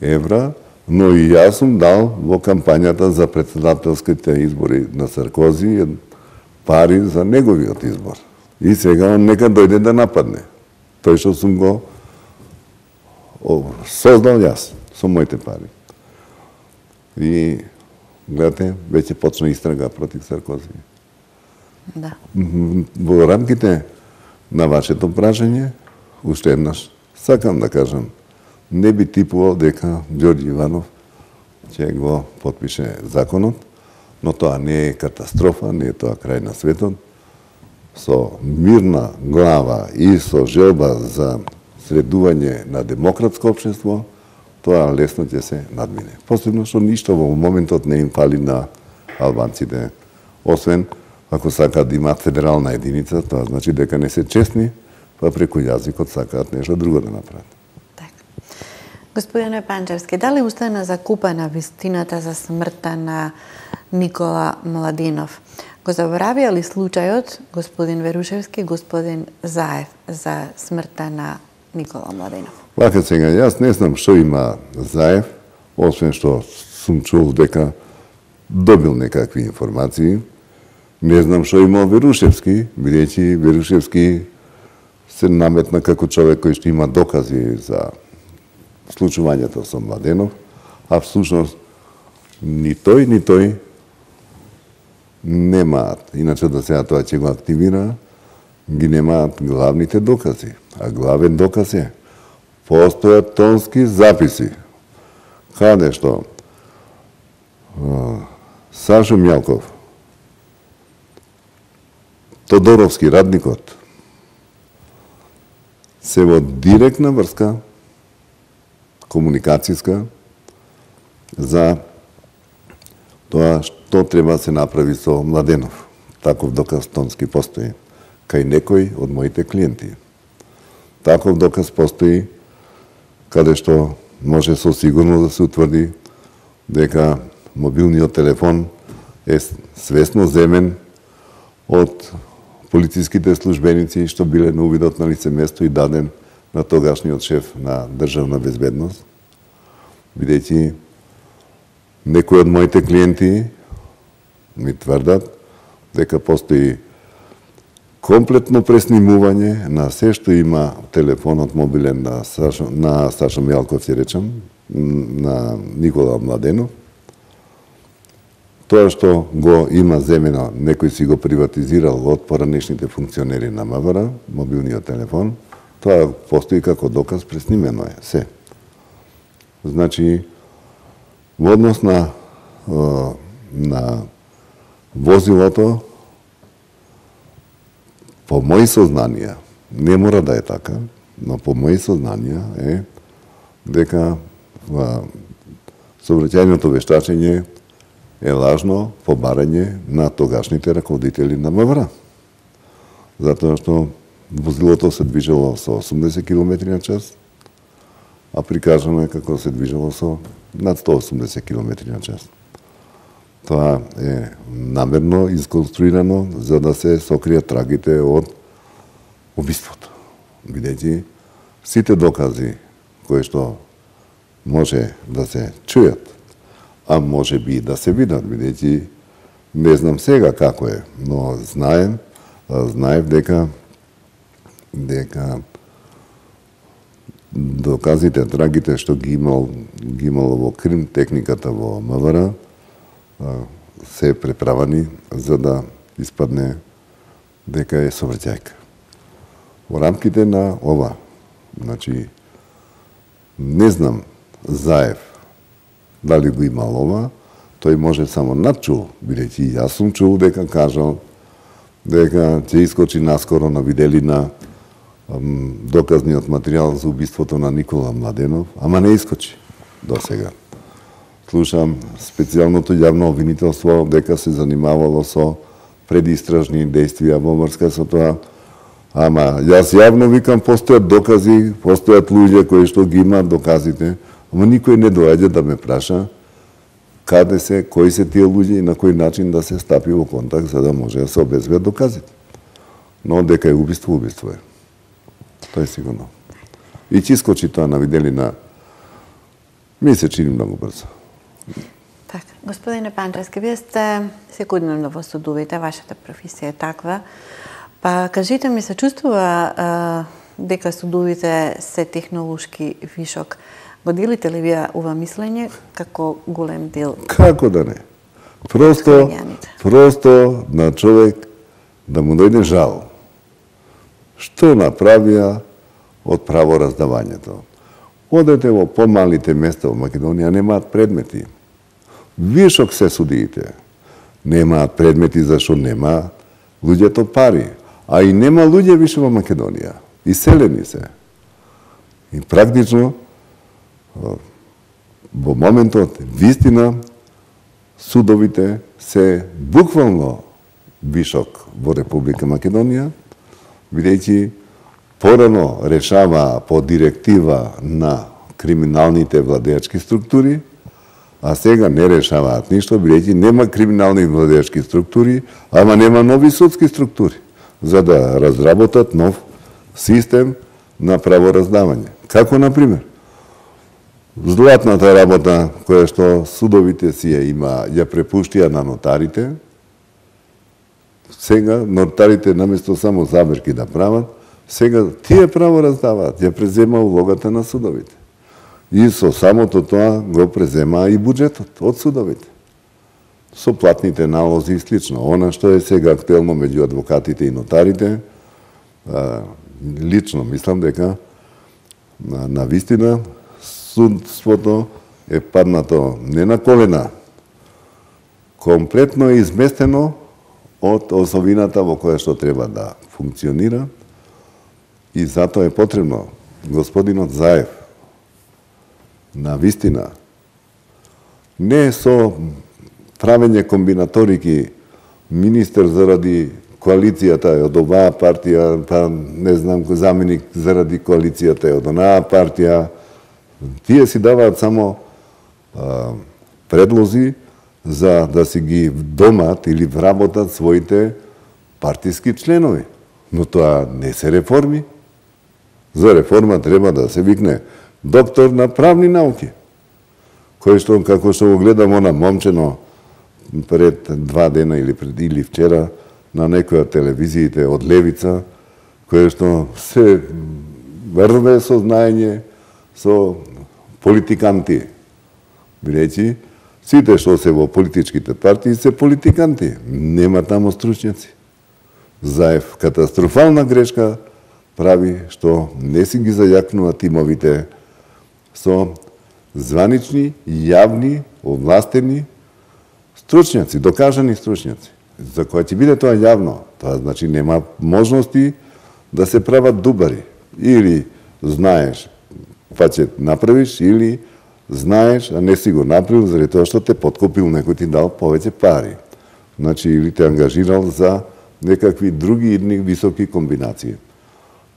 евра, но и јас сум дал во кампањата за председателските избори на Саркози пари за неговиот избор. И сега он нека дојде да нападне. Тој што сум го создал јас со моите пари. И гледате, веќе почна истрага против Саркози. Да. Во рамките на вашето прашање, уште еднаш, сакам да кажам, не би типувал дека Ѓорѓи Иванов ќе го потпише законот, но тоа не е катастрофа, не е тоа крај на светот. Со мирна глава и со желба за средување на демократско општество, тоа лесно ќе се надмине. Посебно што ништо во моментот не им фали на албанците, освен ако сакаат да имаат федерална единица, тоа значи дека не се честни, па преку јазикот сакаат нешто друго да направат. Така. Господине Панчевски, дали устана закупена вистината за смртта на Никола Младинов? Го заборавија ли случајот господин Верушевски, господин Заев за смртта на Никола Младинов? Вака сега, јас не знам што има Заев, освен што сум чул дека добил некакви информации. Не знам што има Верушевски, бидејќи Верушевски се наметна како човек кој што има докази за случувањето со Младенов, а всушност ни тој немаат, иначе да сега тоа ќе го активира, ги немаат главните докази. А главен доказ е, постојат тонски записи, каде што Сашо Мјалков, Тодоровски, радникот, се во директна врска, комуникацијска, за тоа што треба да се направи со Младенов. Таков доказ тонски постои кај некој од моите клиенти. Таков доказ постои каде што може со сигурност да се утврди дека мобилниот телефон е свесно земен од полициските службеници што биле на увидот на лице место и даден на тогашниот шеф на државна безбедност, бидејќи некои од моите клиенти ми тврдат дека постои комплетно преснимување на се што има телефонот мобилен на Сашо Мјалков, ќе речам, на Никола Младенов. Тоа што го има земено, некој си го приватизирал од поранешните функционери на МВР, мобилниот телефон, тоа постои како доказ, преснимено е, се. Значи, во однос на возилото, по мои сознанија, не мора да е така, но по мои сознанија е дека сообраќајното вештачење е лажно побарање на тогашните раководители на МВР. Затоа што возилото се движело со 80 км на час, а прикажано е како се движело со над 180 км на час. Тоа е намерно исконструирано за да се сокријат трагите од убиството. Бидејќи сите докази кои што може да се чујат, а може би и да се видат, бидејќи не знам сега како е, но знаев дека доказите, трагите што ги имало во крим техниката во МВР се преправани за да испадне дека е сообраќајка. Во рамките на ова, значи, не знам Заев дали го имал ова, тој може само надчул, бидејќи јас сум чул дека кажал дека ќе искочи наскоро на виделина доказниот материјал за убиството на Никола Младенов, ама не искочи до сега. Слушам специјалното јавно обвинителство дека се занимавало со предистражни действија во врска со тоа. Ама јас јавно викам, постојат докази, постојат луѓе кои што ги имаат доказите, ама никој не доаѓа да ме праша каде се, кои се тие луѓе и на кој начин да се стапи во контакт за да може да се обезбедат доказите. Но дека е убиство, убиство е. Тоа е сигурно. И ќе искочи тоа на виделина, ми се чини многу брзо. Така, господине Панчевски, вие сте секојдневно во судовите, вашата професија е таква. Па кажите ми, се чувствува дека судовите се технолошки вишок? Го делите ли вие ова мислење како голем дел? Како да не? Просто на човек да му дојде жал. Што направија од правораздавањето? Одете во помалите места во Македонија, немаат предмети. Вишок се судиите. Немаат предмети зашто нема луѓето пари. А и нема луѓе више во Македонија. Иселени се. И практично, во моментот, вистина, судовите се буквално вишок во Република Македонија, бидејќи порано решава по директива на криминалните владеачки структури, а сега не решаваат ништо, бидејќи нема криминални владеачки структури, ама нема нови судски структури, за да разработат нов систем на правораздавање. Како, например, златната работа која што судовите си ја препуштија на нотарите, сега нотарите наместо само заберки да прават, сега тие правораздаваат, ја презема улогата на судовите. И со самото тоа го презема и буџетот од судовите. Со платните налози и слично. Она што е сега актуелно меѓу адвокатите и нотарите, лично мислам дека на вистина судството е паднато не на колена, комплетно е изместено од особината во која што треба да функционира и затоа е потребно господинот Заев на вистина не со правење комбинаторики министер заради коалицијата е од оваа партија, па не знам, заменик заради коалицијата е од онаа партија. Тие си даваат само предлози за да си ги домат или вработат своите партиски членови. Но тоа не се реформи. За реформа треба да се викне доктор на правни науки, кој што, како што го гледам она момчено пред 2 дена или вчера на некоја телевизиите од левица, кој што се врве со знаење со политиканти. Бидејќи сите што се во политичките партии се политиканти, нема таму стручњаци. Заев катастрофална грешка прави што не си ги зајакнува тимовите со званични, јавни, овластени стручњаци, докажани стручњаци. За кога ќе биде тоа јавно, тоа значи нема можности да се прават дубари. Или знаеш па ќе направиш, или знаеш, а не си го направил заради тоа што те подкупил некој ти дал повеќе пари. Значи, или те ангажирал за некакви други идни високи комбинации.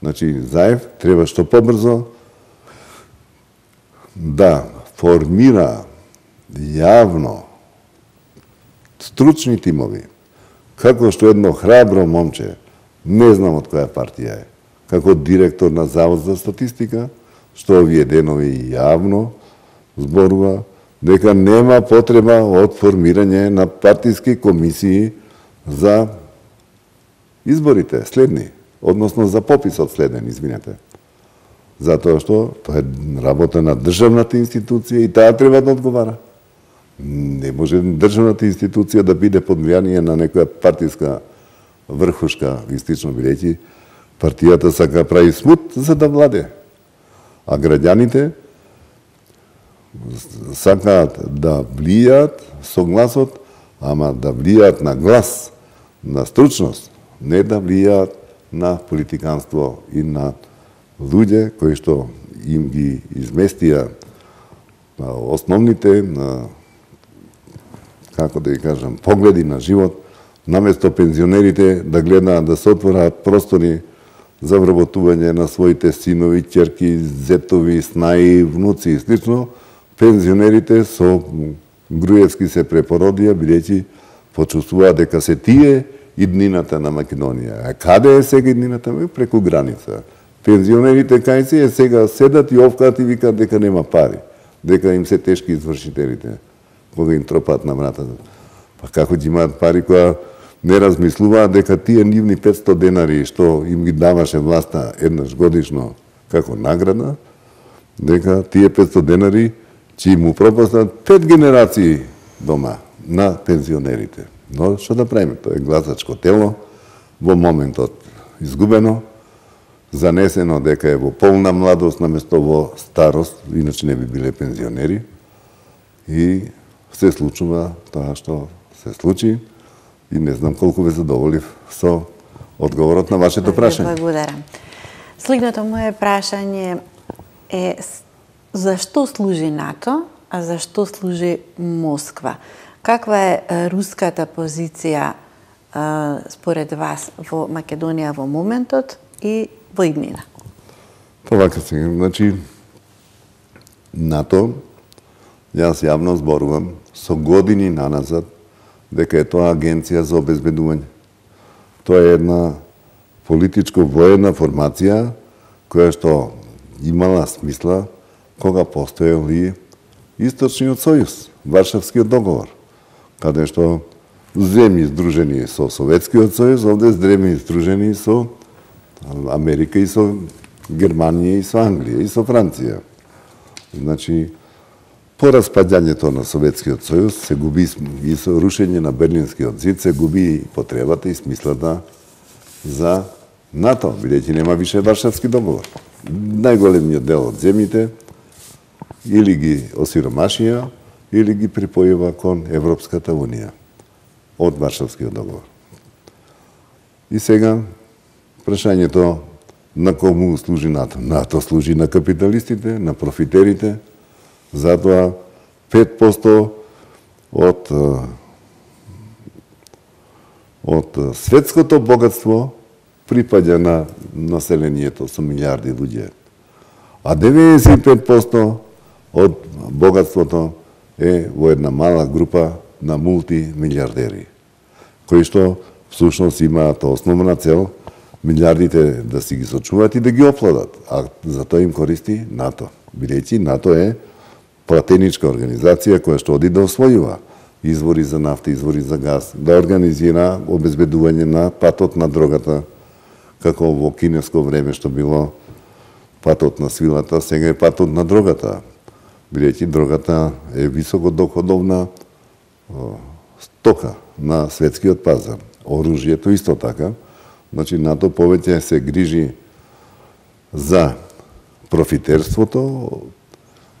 Значи, Заев треба што побрзо да формира јавно стручни тимови, како што едно храбро момче, не знам од која партија е, како директор на Завод за статистика, што овие денови јавно зборува дека нема потреба од формирање на партиски комисии за изборите следни, односно за пописот следен, извинете. Затоа што тоа е работа на државната институција и таа треба да одговара. Не може државната институција да биде под влијание на некоја партиска врхушка, истично бидејќи партијата сака прави смут за да владе. А граѓаните сакаат да влијаат со гласот, ама да влијаат на глас, на стручност, не да влијаат на политиканство и на луѓе кои што им ги изместија основните, како да ги кажам, погледи на живот, наместо пензионерите да гледаат да се отвораат простори за вработување на своите синови, ќерки, зетови, снаи, внуци и слично, пензионерите со Груевски се препородија, бидејќи почувствуваат дека се тие иднината на Македонија. А каде е сега иднината? Преку граница. Пензионерите кај се сега седат и овкаат и викаат дека нема пари, дека им се тешки извршителите, кога им тропаат на вратата. Па како ќе имаат пари кога не размислуваат дека тие нивни 500 денари што им ги даваше власта еднаш годишно како награда, дека тие 500 денари ќе им упропастат 5 генерации дома на пензионерите. Но што да правиме? Тоа е гласачко тело, во моментот изгубено, занесено дека е во полна младост наместо во старост, иначе не би биле пензионери, и се случува тоа што се случи и не знам колку ве задоволив со одговорот на вашето прашање. Благодарам. Следното моје прашање е зашто служи НАТО, а зашто служи Москва? Каква е руската позиција според вас во Македонија во моментот и во иднина? Вака сега, значи, НАТО, јас јавно зборувам со години наназад дека е тоа агенција за обезбедување. Тоа е една политичко-воена формација која што имала смисла кога постоел и Источниот сојуз, Варшавскиот договор, каде што земји здружени со Советскиот сојуз, овде земји здружени со Америка и со Германија и со Англија и со Франција. Значи, по распаѓањето на Советскиот сојуз се губи и со рушење на Берлинскиот зид се губи потребата и смислата за НАТО, бидејќи нема више Варшавски договор. Најголемиот дел од земјите или ги осиромашија, или ги припојува кон Европската унија од Варшавскиот договор. И сега, прашањето на кому служи НАТО? НАТО служи на капиталистите, на профитерите, затоа 5% од светското богатство припаѓа на населението со милиарди луѓе. А 95% од богатството е во една мала група на мултимилиардери, кои што всушност имаат основна цел милиардите да си ги сочуваат и да ги опладат, а за тоа им користи НАТО, бидејќи НАТО е платеничка организација која што оди да освојува извори за нафта, извори за газ, да организира обезбедување на патот на дрогата, како во кинеско време што било патот на свилата, сега е патот на дрогата, бидејќи дрогата е високодоходовна стока на светскиот пазар. Оружјето исто така. Значи, НАТО повеќе се грижи за профитерството,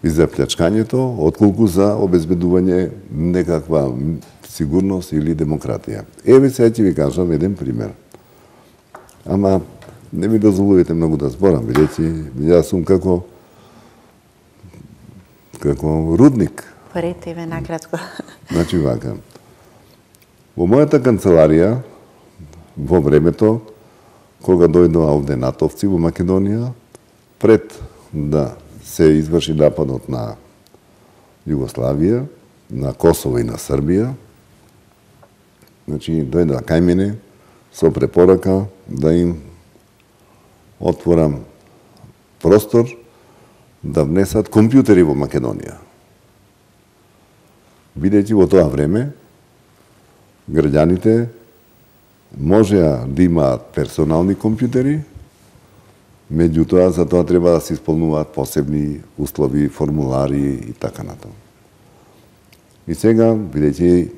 и за плячкањето, отколку за обезбедување некаква сигурност или демократија. Еве сега ќе ви кажам еден пример. Ама не ми дозволувате многу да зборам, бидејќи јас сум како рудник. Порете ве накратко. Значи вака. Во мојата канцеларија, во времето, кога дојдоа овде натовци во Македонија, пред да се изврши нападот на Југославија, на Косово и на Србија, значи дојдоа кај мене со препорака да им отворам простор да внесат компјутери во Македонија. Бидејќи во тоа време граѓаните можеа да имаат персонални компјутери, меѓутоа за тоа треба да се исполнуваат посебни услови, формулари и така натаму. И сега, бидејќи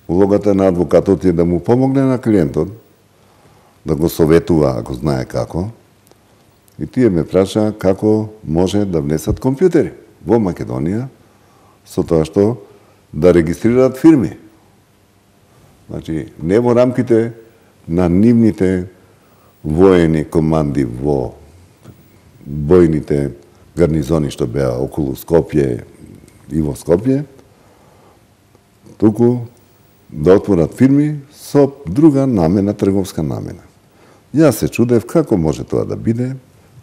улогата на адвокатот е да му помогне на клиентот, да го советува ако знае како, и тие ме праша како може да внесат компјутери во Македонија, со тоа што да регистрираат фирми. Значи, не во рамките на нивните воени команди во бојните гарнизони што беа околу Скопје и во Скопје, туку да отворат фирми со друга намена, трговска намена. Јас се чудев како може тоа да биде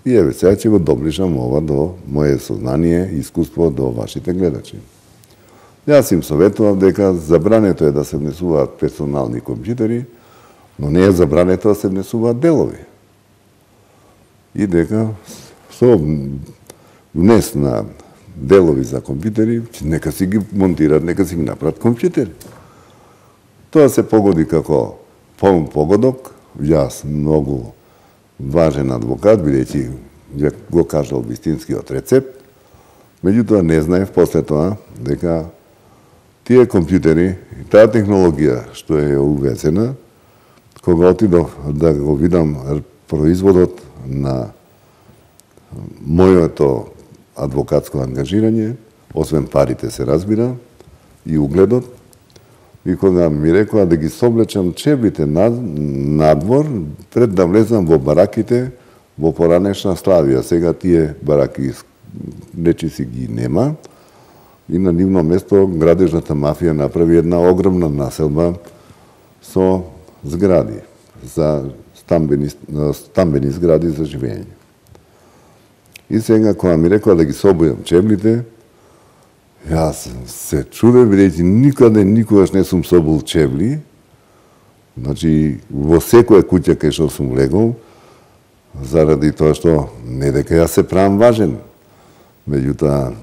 и еве сега ќе го доближам ова до моје сознание и искуство до вашите гледачи. Јас им советував дека забрането е да се внесуваат персонални компјутери, но не е забрането да се внесуваат делови. И дека со внес на делови за компјутери, нека си ги монтират, нека си ги направат компјутери. Тоа се погоди како полн погодок. Јас многу важен адвокат, бидејќи го кажал вистинскиот рецепт, меѓутоа не знаев после тоа дека тие компјутери и таа технологија што е увезена, кога отидов да го видам производот на моето адвокатско ангажирање, освен парите се разбира, и угледот, и кога ми рекоа да ги соблечам чевлите надвор, пред да влезам во бараките во поранешна Славија. Сега тие бараки речиси ги нема, и на нивно место градежната мафија направи една огромна населба со згради, за стамбени згради за живење. И сега, кога ми рекоа да ги собојам чевлите, јас се чудев, бидејќи никогаш не сум собол чевли. Значи, во секоја куќа кај што сум легол, заради тоа што не дека јас се правам важен. Меѓутоа,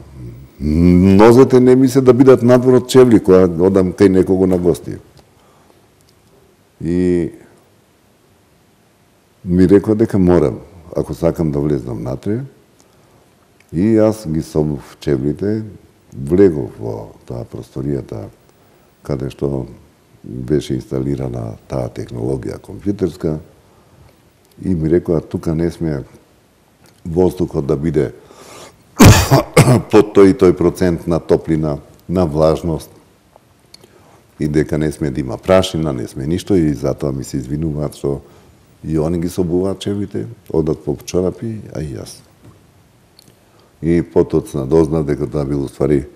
нозете не ми се да бидат надвор од чевли, кога одам кај некого на гости. И ми рекоа дека морам, ако сакам да влезнам натре, и јас ги собов чевлите, влегов во таа просторијата каде што беше инсталирана таа технологија компјутерска, и ми рекоа тука не сме воздухот да биде под тој и тој процент на топлина, на влажност, и дека не сме да има прашина, не сме ништо, и затоа ми се извинуваат што и они ги собуваат чевлите, одат по чорапи, а и јас. И потоцна дознав дека тоа било уствари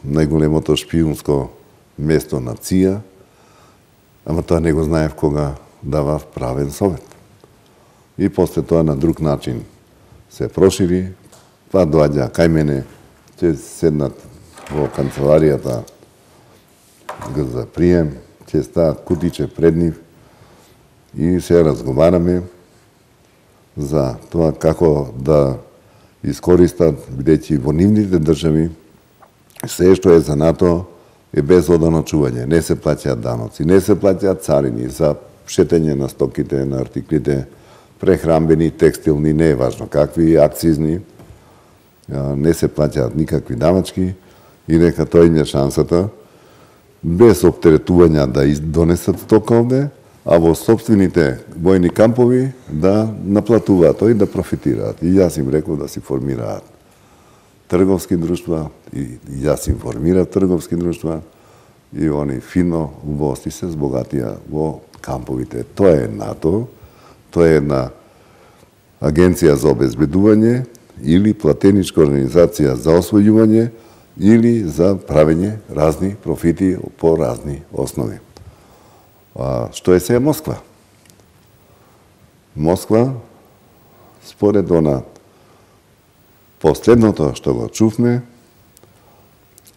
најголемото шпиунско место на ЦИА, ама тоа не го знаев кога давав правен совет. И после тоа на друг начин се прошири, па доаѓа кај мене, ќе седнат во канцеларијата за прием, ќе стават кутиче пред нив и се разговараме за тоа како да искористат, бидејќи во нивните држави се што е за НАТО е без одано чување. Не се плаќаат даноци, не се плаќаат царини за шетење на стоките, на артиклите, прехрамбени, текстилни, не е важно какви, акцизни, не се плаќаат никакви давачки, и нека тој им е шансата, без оптеретувања да донесат стока овде, а во собствените војни кампови да наплатуваат тој, да профитираат. И јас им реков да си формираат трговски друштва и јас информирав трговски друштва и они фино убавости се збогатија во камповите. Тоа е НАТО, тоа е една агенција за обезбедување или платеничка организација за освојување или за правење разни профити по разни основи. Што е се Москва? Москва, според она последното што го чувме,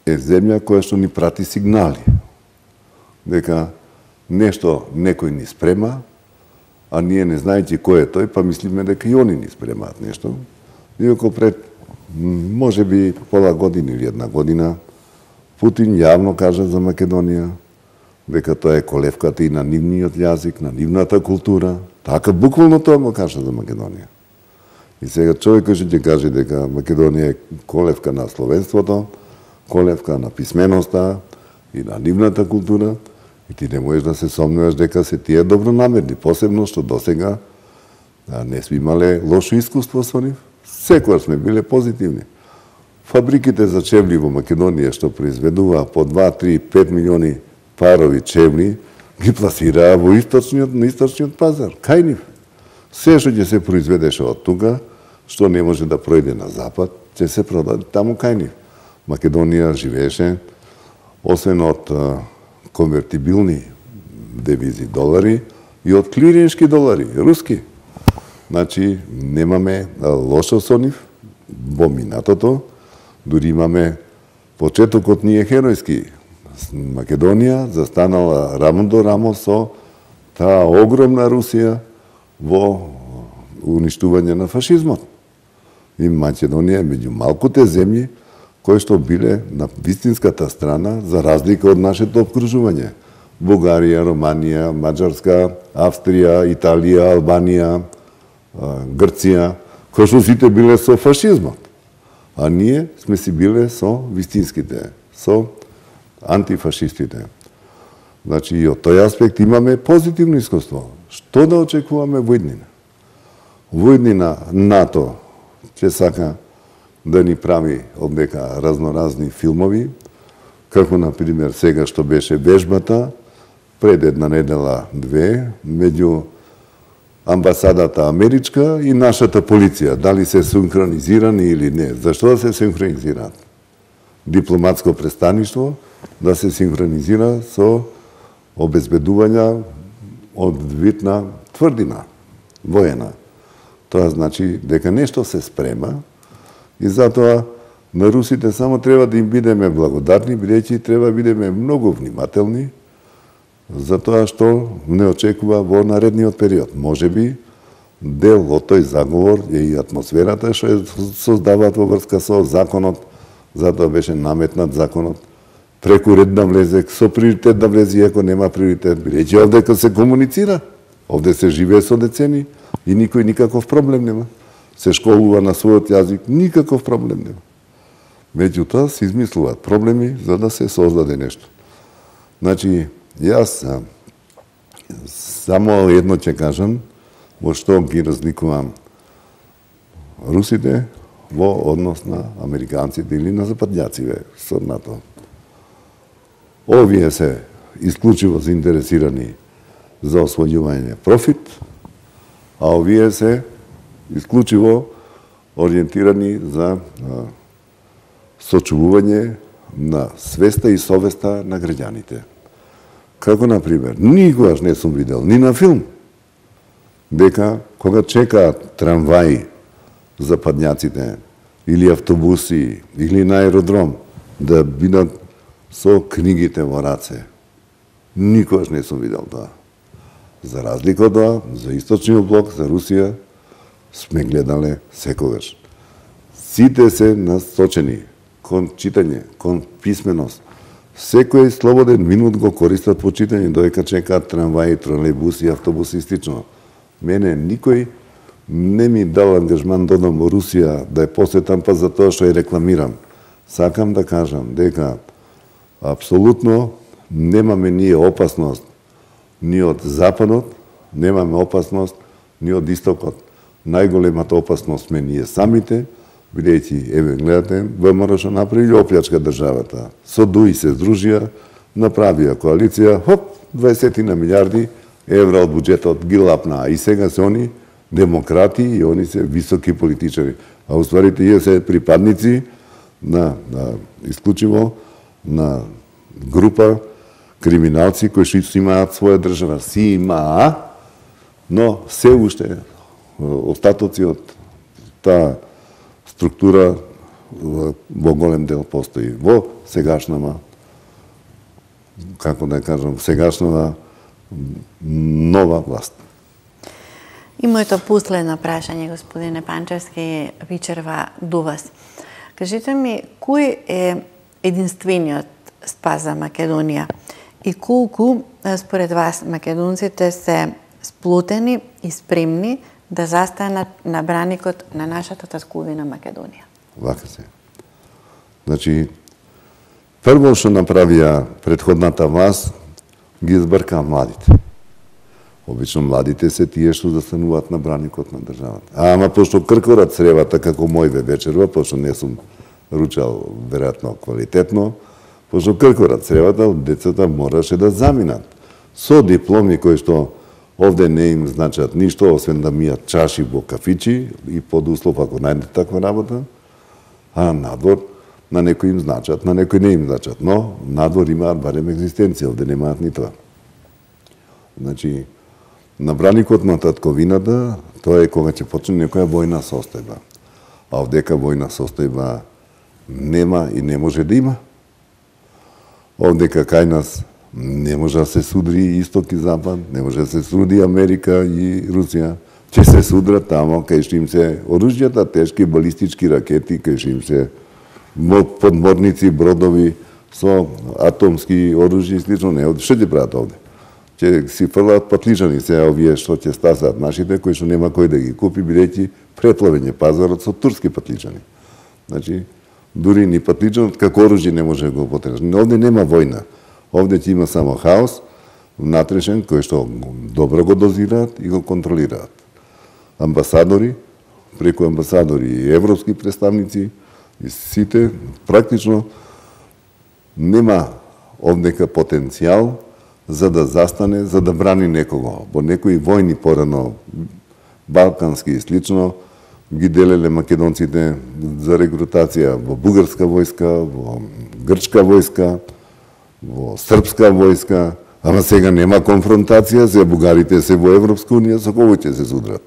е земја која што ни прати сигнали дека нешто некој ни спрема, а ние не знаејќи кој е тој, па мислиме дека и они ни спремаат нешто. Иако пред можеби пола година или една година Путин јавно кажа за Македонија дека тоа е колевката и на нивниот јазик, на нивната култура. Така буквално тоа го кажа за Македонија. И сега човекот ќе каже дека Македонија е колевка на словенството, колевка на писменоста и на нивната култура, и ти не можеш да се сомнуваш дека се тие добронамерни, посебно што досега не сме имале лошо искуство со нив. Секогаш сме биле позитивни. Фабриките за чевли во Македонија што произведува по 2, 3, 5 милиони парови чевли, ги пласираа во на источниот пазар, кај нив. Се што ќе се произведеше од тука, што не може да пројде на запад, ќе се продаде таму кај нив. Македонија живееше, освен од конвертибилни девизи долари, и од клириншки долари, руски. Значи, немаме лошо со нив во минатото, дури имаме почетокот ни е херојски. Македонија застанала рамо до рамо со таа огромна Русија во уништување на фашизмот. И Македонија е меѓу малкуте земји кои што биле на вистинската страна за разлика од нашето обкружување. Бугарија, Романија, Маđарска, Австрија, Италија, Албанија, Грција, кои што сите биле со фашизмот. А ние сме си биле со вистинските, со антифашистите. Значи, и од тој аспект имаме позитивно искуство. Што да очекуваме во иднина? Во иднина НАТО ќе сака да ни прави однека разноразни филмови, како, например, сега што беше вежбата, пред една недела, две, меѓу амбасадата америчка и нашата полиција. Дали се синхронизирани или не? Зашто да се синхронизираат? Дипломатско престаништво да се синхронизира со обезбедување од вид на тврдина, воена. Тоа значи дека нешто се спрема и затоа на русите само треба да им бидеме благодарни, бидејќи треба да бидеме многу внимателни за тоа што не очекува во наредниот период. Можеби дел од тој заговор е и атмосферата што е создаваат во врска со законот, затоа беше наметнат законот, преку ред да влезе, со приоритет да влезе, иако нема приоритет, бидејќи овде се комуницира, овде се живее со децени и никој никаков проблем нема. Се школува на својот јазик, никаков проблем нема. Меѓутоа се измислуваат проблеми за да се создаде нешто. Значи, јас само едно ќе кажам, во што ги разликувам русите во однос на американците или на западњаците со НАТО. Овие се исклучиво заинтересирани за освојување профит, а овие се исклучиво ориентирани за сочувување на свеста и совеста на граѓаните. Како, например, никогаш не сум видел ни на филм дека кога чекаат трамваи западњаците или автобуси или на аеродром да бидат со книгите во раце. Никогаш не сум видел тоа. За разлика од тоа, за Источниот блок, за Русија, сме гледале секогаш. Сите се насочени кон читање, кон писменост. Секој слободен минут го користат по читање, додека чекаат трамваи, тролејбуси, автобуси и слично. Мене никој не ми дал ангажман да одам во Русија, да ја посетам па за тоа што ја рекламирам. Сакам да кажам дека апсолутно немаме ние опасност ни од Западот, немаме опасност ни од Истокот. Најголемата опасност сме ние самите, бидејќи, еве, гледате, ВМРО што направи оплячка државата. Со ДУИ се здружија, направија коалиција, хоп, 20 милиарди евра од буџетот ги лапнаа. И сега се они демократи и они се високи политичари. А уствари тие се припадници на исклучиво на група криминалци кои што имаат своја држава. Си имаа, но се уште остатоци од таа структура во голем дел постои. Во сегашнава, како да кажам, сегашнава нова власт. И моето последно прашање, господине Панчевски, вечерва до вас. Кажете ми, кој е единствениот спас за Македонија и колку, според вас, македонците се сплотени и спремни да застанат на браникот на нашата татковина Македонија? Вака се. Значи, прво што направија претходната власт, ги збркаа младите. Обично младите се тие што застануваат на браникот на државата. Ама пошто кркорат сревата како мојве вечерва, пошто не сум ручал веројатно квалитетно, пошто кркорат сревата, децата мораше да заминат со дипломи кои што овде не им значат ништо, освен да мијат чаши во кафичи и под услов ако најдат таква работа, а надвор на некои им значат, на некои не им значат, но надвор имаат барем екзистенција, овде немаат ни тоа. Значи, на браникот на татковината, тоа е кога ќе почне некоја војна состојба. А овдека војна состојба нема и не може да има. Овдека кај нас не може да се судри Исток и Запад, не може да се суди Америка и Русија. Ќе се судрат тамо кај што им се оружјата, тешки балистички ракети, кај што им се подморници, бродови со атомски оружје и слично. Не, што ќе прават овде? Ќе си фрлаат патличани се овие што ќе стасаат нашите, кои што нема кој да ги купи, бидејќи преплавен е пазарот со турски патличани. Значи, дури ни патличанот како оружје не може да го употребиш. Овде нема војна. Овде ќе има само хаос, внатрешен, кој што добро го дозираат и го контролираат. Амбасадори, преку амбасадори и европски представници, и сите, практично нема овдека потенцијал за да застане, за да брани некого. Во некои војни порано, балкански и слично, ги делеле македонците за рекрутација во бугарска војска, во грчка војска, во српска војска, ама сега нема конфронтација, се бугарите се во Европска унија, со кого ќе се судрат?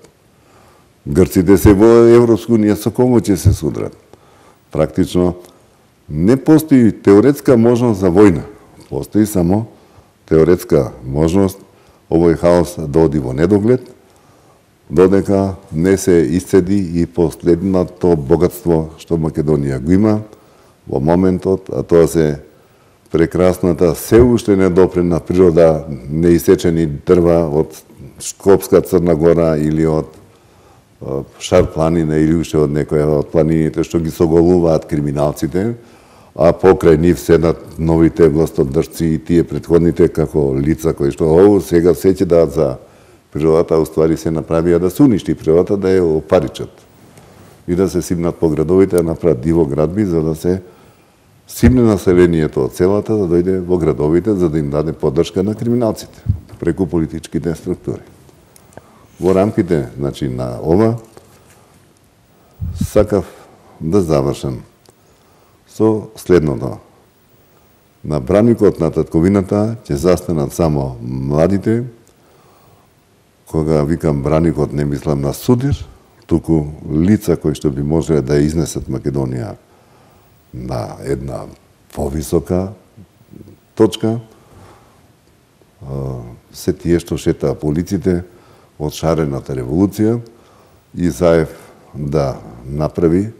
Грците се во Европска унија, со кого ќе се судрат? Практично не постои теоретска можност за војна. Постои само теоретска можност овој хаос да оди во недоглед, додека не се исцеди и последното богатство што Македонија го има во моментот, а тоа се прекрасната, се уште недопрена природа, неисечени дрва од Скопска Црна Гора или од Шар планина или уште од некоја од планините што ги соголуваат криминалците, а покрај нив седат новите властодржци и тие претходните како лица кои што сега се ќе дадат за природата, а уствари се направија да се уништи природата, да ја опаричат и да се симнат по градовите, да направат диво градби, за да се симне населението од селата, да дојде во градовите, за да им даде поддршка на криминалците преку политичките структури. Во рамките, значи, на ова, сакав да завршам со следното. На браникот на татковината ќе застанат само младите. Кога викам браникот, не мислам на судир, туку лица кои што би можеле да изнесат Македонија на една повисока точка. Се тие што шетаа по улиците од шарената револуција и Заев да направи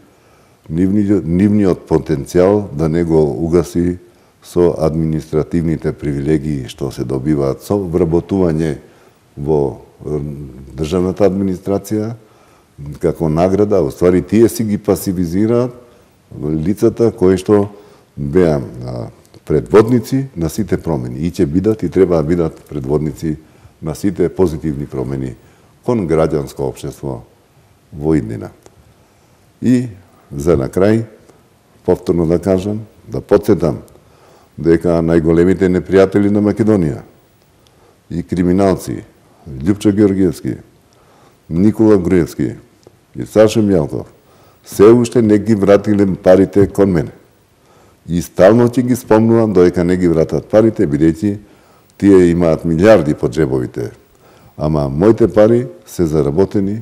нивниот потенцијал да не го угаси со административните привилегии што се добиваат со вработување во државната администрација како награда, уствари тие си ги пасивизираат лицата кои што беа предводници на сите промени и ќе бидат и треба да бидат предводници на сите позитивни промени кон граѓанско општество во иднина. И За на крај, повторно да кажам, да подсетам дека најголемите непријатели на Македонија и криминалци, Љупчо Георгиевски, Никола Груевски и Сашо Мјалков, се уште не ги вратиле парите кон мене. И стално ќе ги спомнувам додека не ги вратат парите, бидејќи тие имаат милиарди по джебовите. Ама моите пари се заработени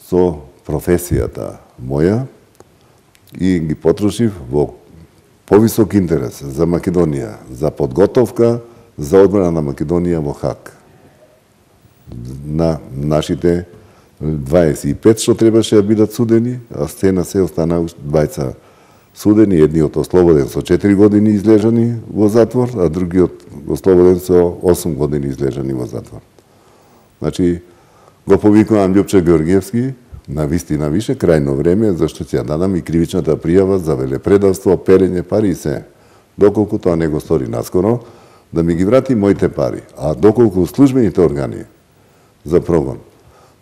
со професијата моја и ги потрошив во повисок интерес за Македонија, за подготовка за одбрана на Македонија во Хаг. На нашите 25 што требаше да бидат судени, а сцена се остана 20 судени, едниот ослободен со 4 години излежани во затвор, а другиот ослободен со 8 години излежани во затвор. Значи, го повикувам Љупчо Георгиевски, на вистина више крајно време, зашто ќе ја дадам и кривичната пријава за велепредавство, перење пари и се. Доколку тоа не го стори наскоро, да ми ги врати моите пари. А доколку службените органи за прогон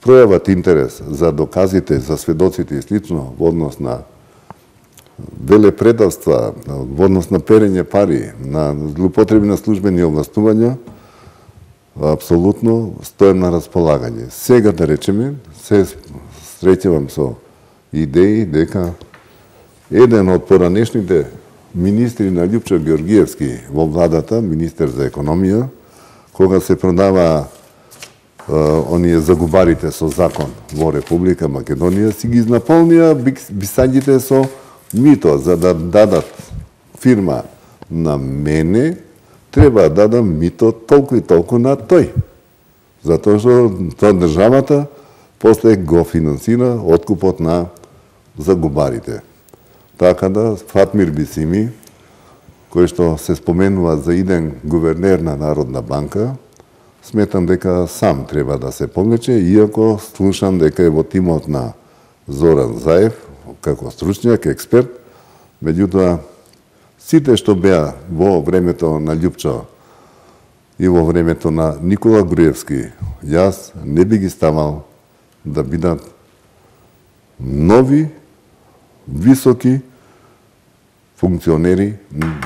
пројават интерес за доказите, за сведоците и слично во однос на велепредавства, во однос на перење пари, на злоупотреби на службени овластувања, апсолутно стојам на располагање. Сега да речеме, се среќавам со идеи дека еден од поранешните министри на Љупчо Георгиевски во владата, министер за економија, кога се продава оние загубарите со закон во Република Македонија, си ги изнаполнија бисаѓите со мито, за да дадат фирма на мене, треба да дадам мито толку и толку на тој. Затоа што тоа државата после го финансира откупот на загубарите. Така да Фатмир Бисими, кој што се споменува за иден гувернер на Народна банка, сметам дека сам треба да се повлече, иако слушам дека е во тимот на Зоран Заев, како стручњак, експерт, меѓутоа сите што беа во времето на Љупчо и во времето на Никола Груевски, јас не би ги ставал да бидат нови, високи функционери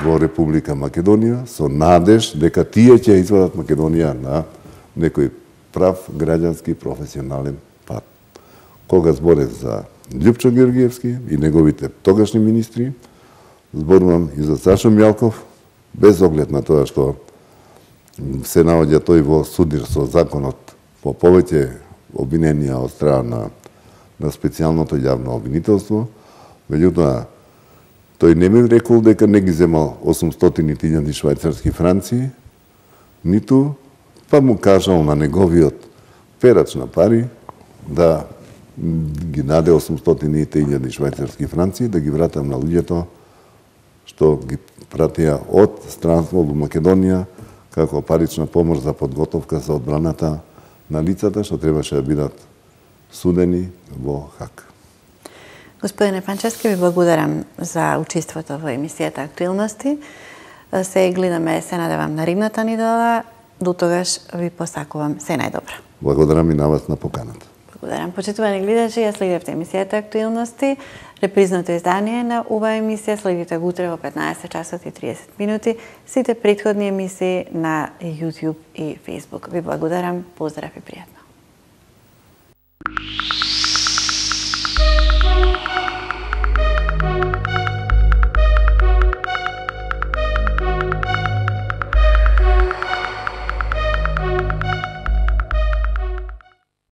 во Република Македонија со надеж дека тие ќе извадат Македонија на некој прав граѓански професионален пат. Кога зборев за Љупчо Георгиевски и неговите тогашни министри, зборувам и за Сашо Мјалков, без оглед на тоа што се наоѓа тој во судир со законот по повеќе обвиненија од страна на специјалното јавно обвинителство, меѓутоа тој не ми рекол дека не ги земал 800.000 швајцарски франци, ниту па му кажал на неговиот перач на пари да ги наде 800.000 швајцарски франци, да ги вратам на луѓето што ги пратија од странство во Македонија како парична помош за подготовка за одбраната на лицата што требаше да бидат судени во Хаг. Господине Панчевски, ви благодарам за учеството во емисијата Актуелности. Се гледаме, се надевам на ридната недела. До тогаш ви посакувам се најдобро. Благодарам и на вас на поканата. Благодарам. Почитувани гледачи, ја следевте емисијата Актуелности. Репризното издание на оваа емисија следите го утре во 15 часот и 30 минути. Сите претходни емисии на YouTube и Facebook. Ви благодарам. Поздрав и пријатно.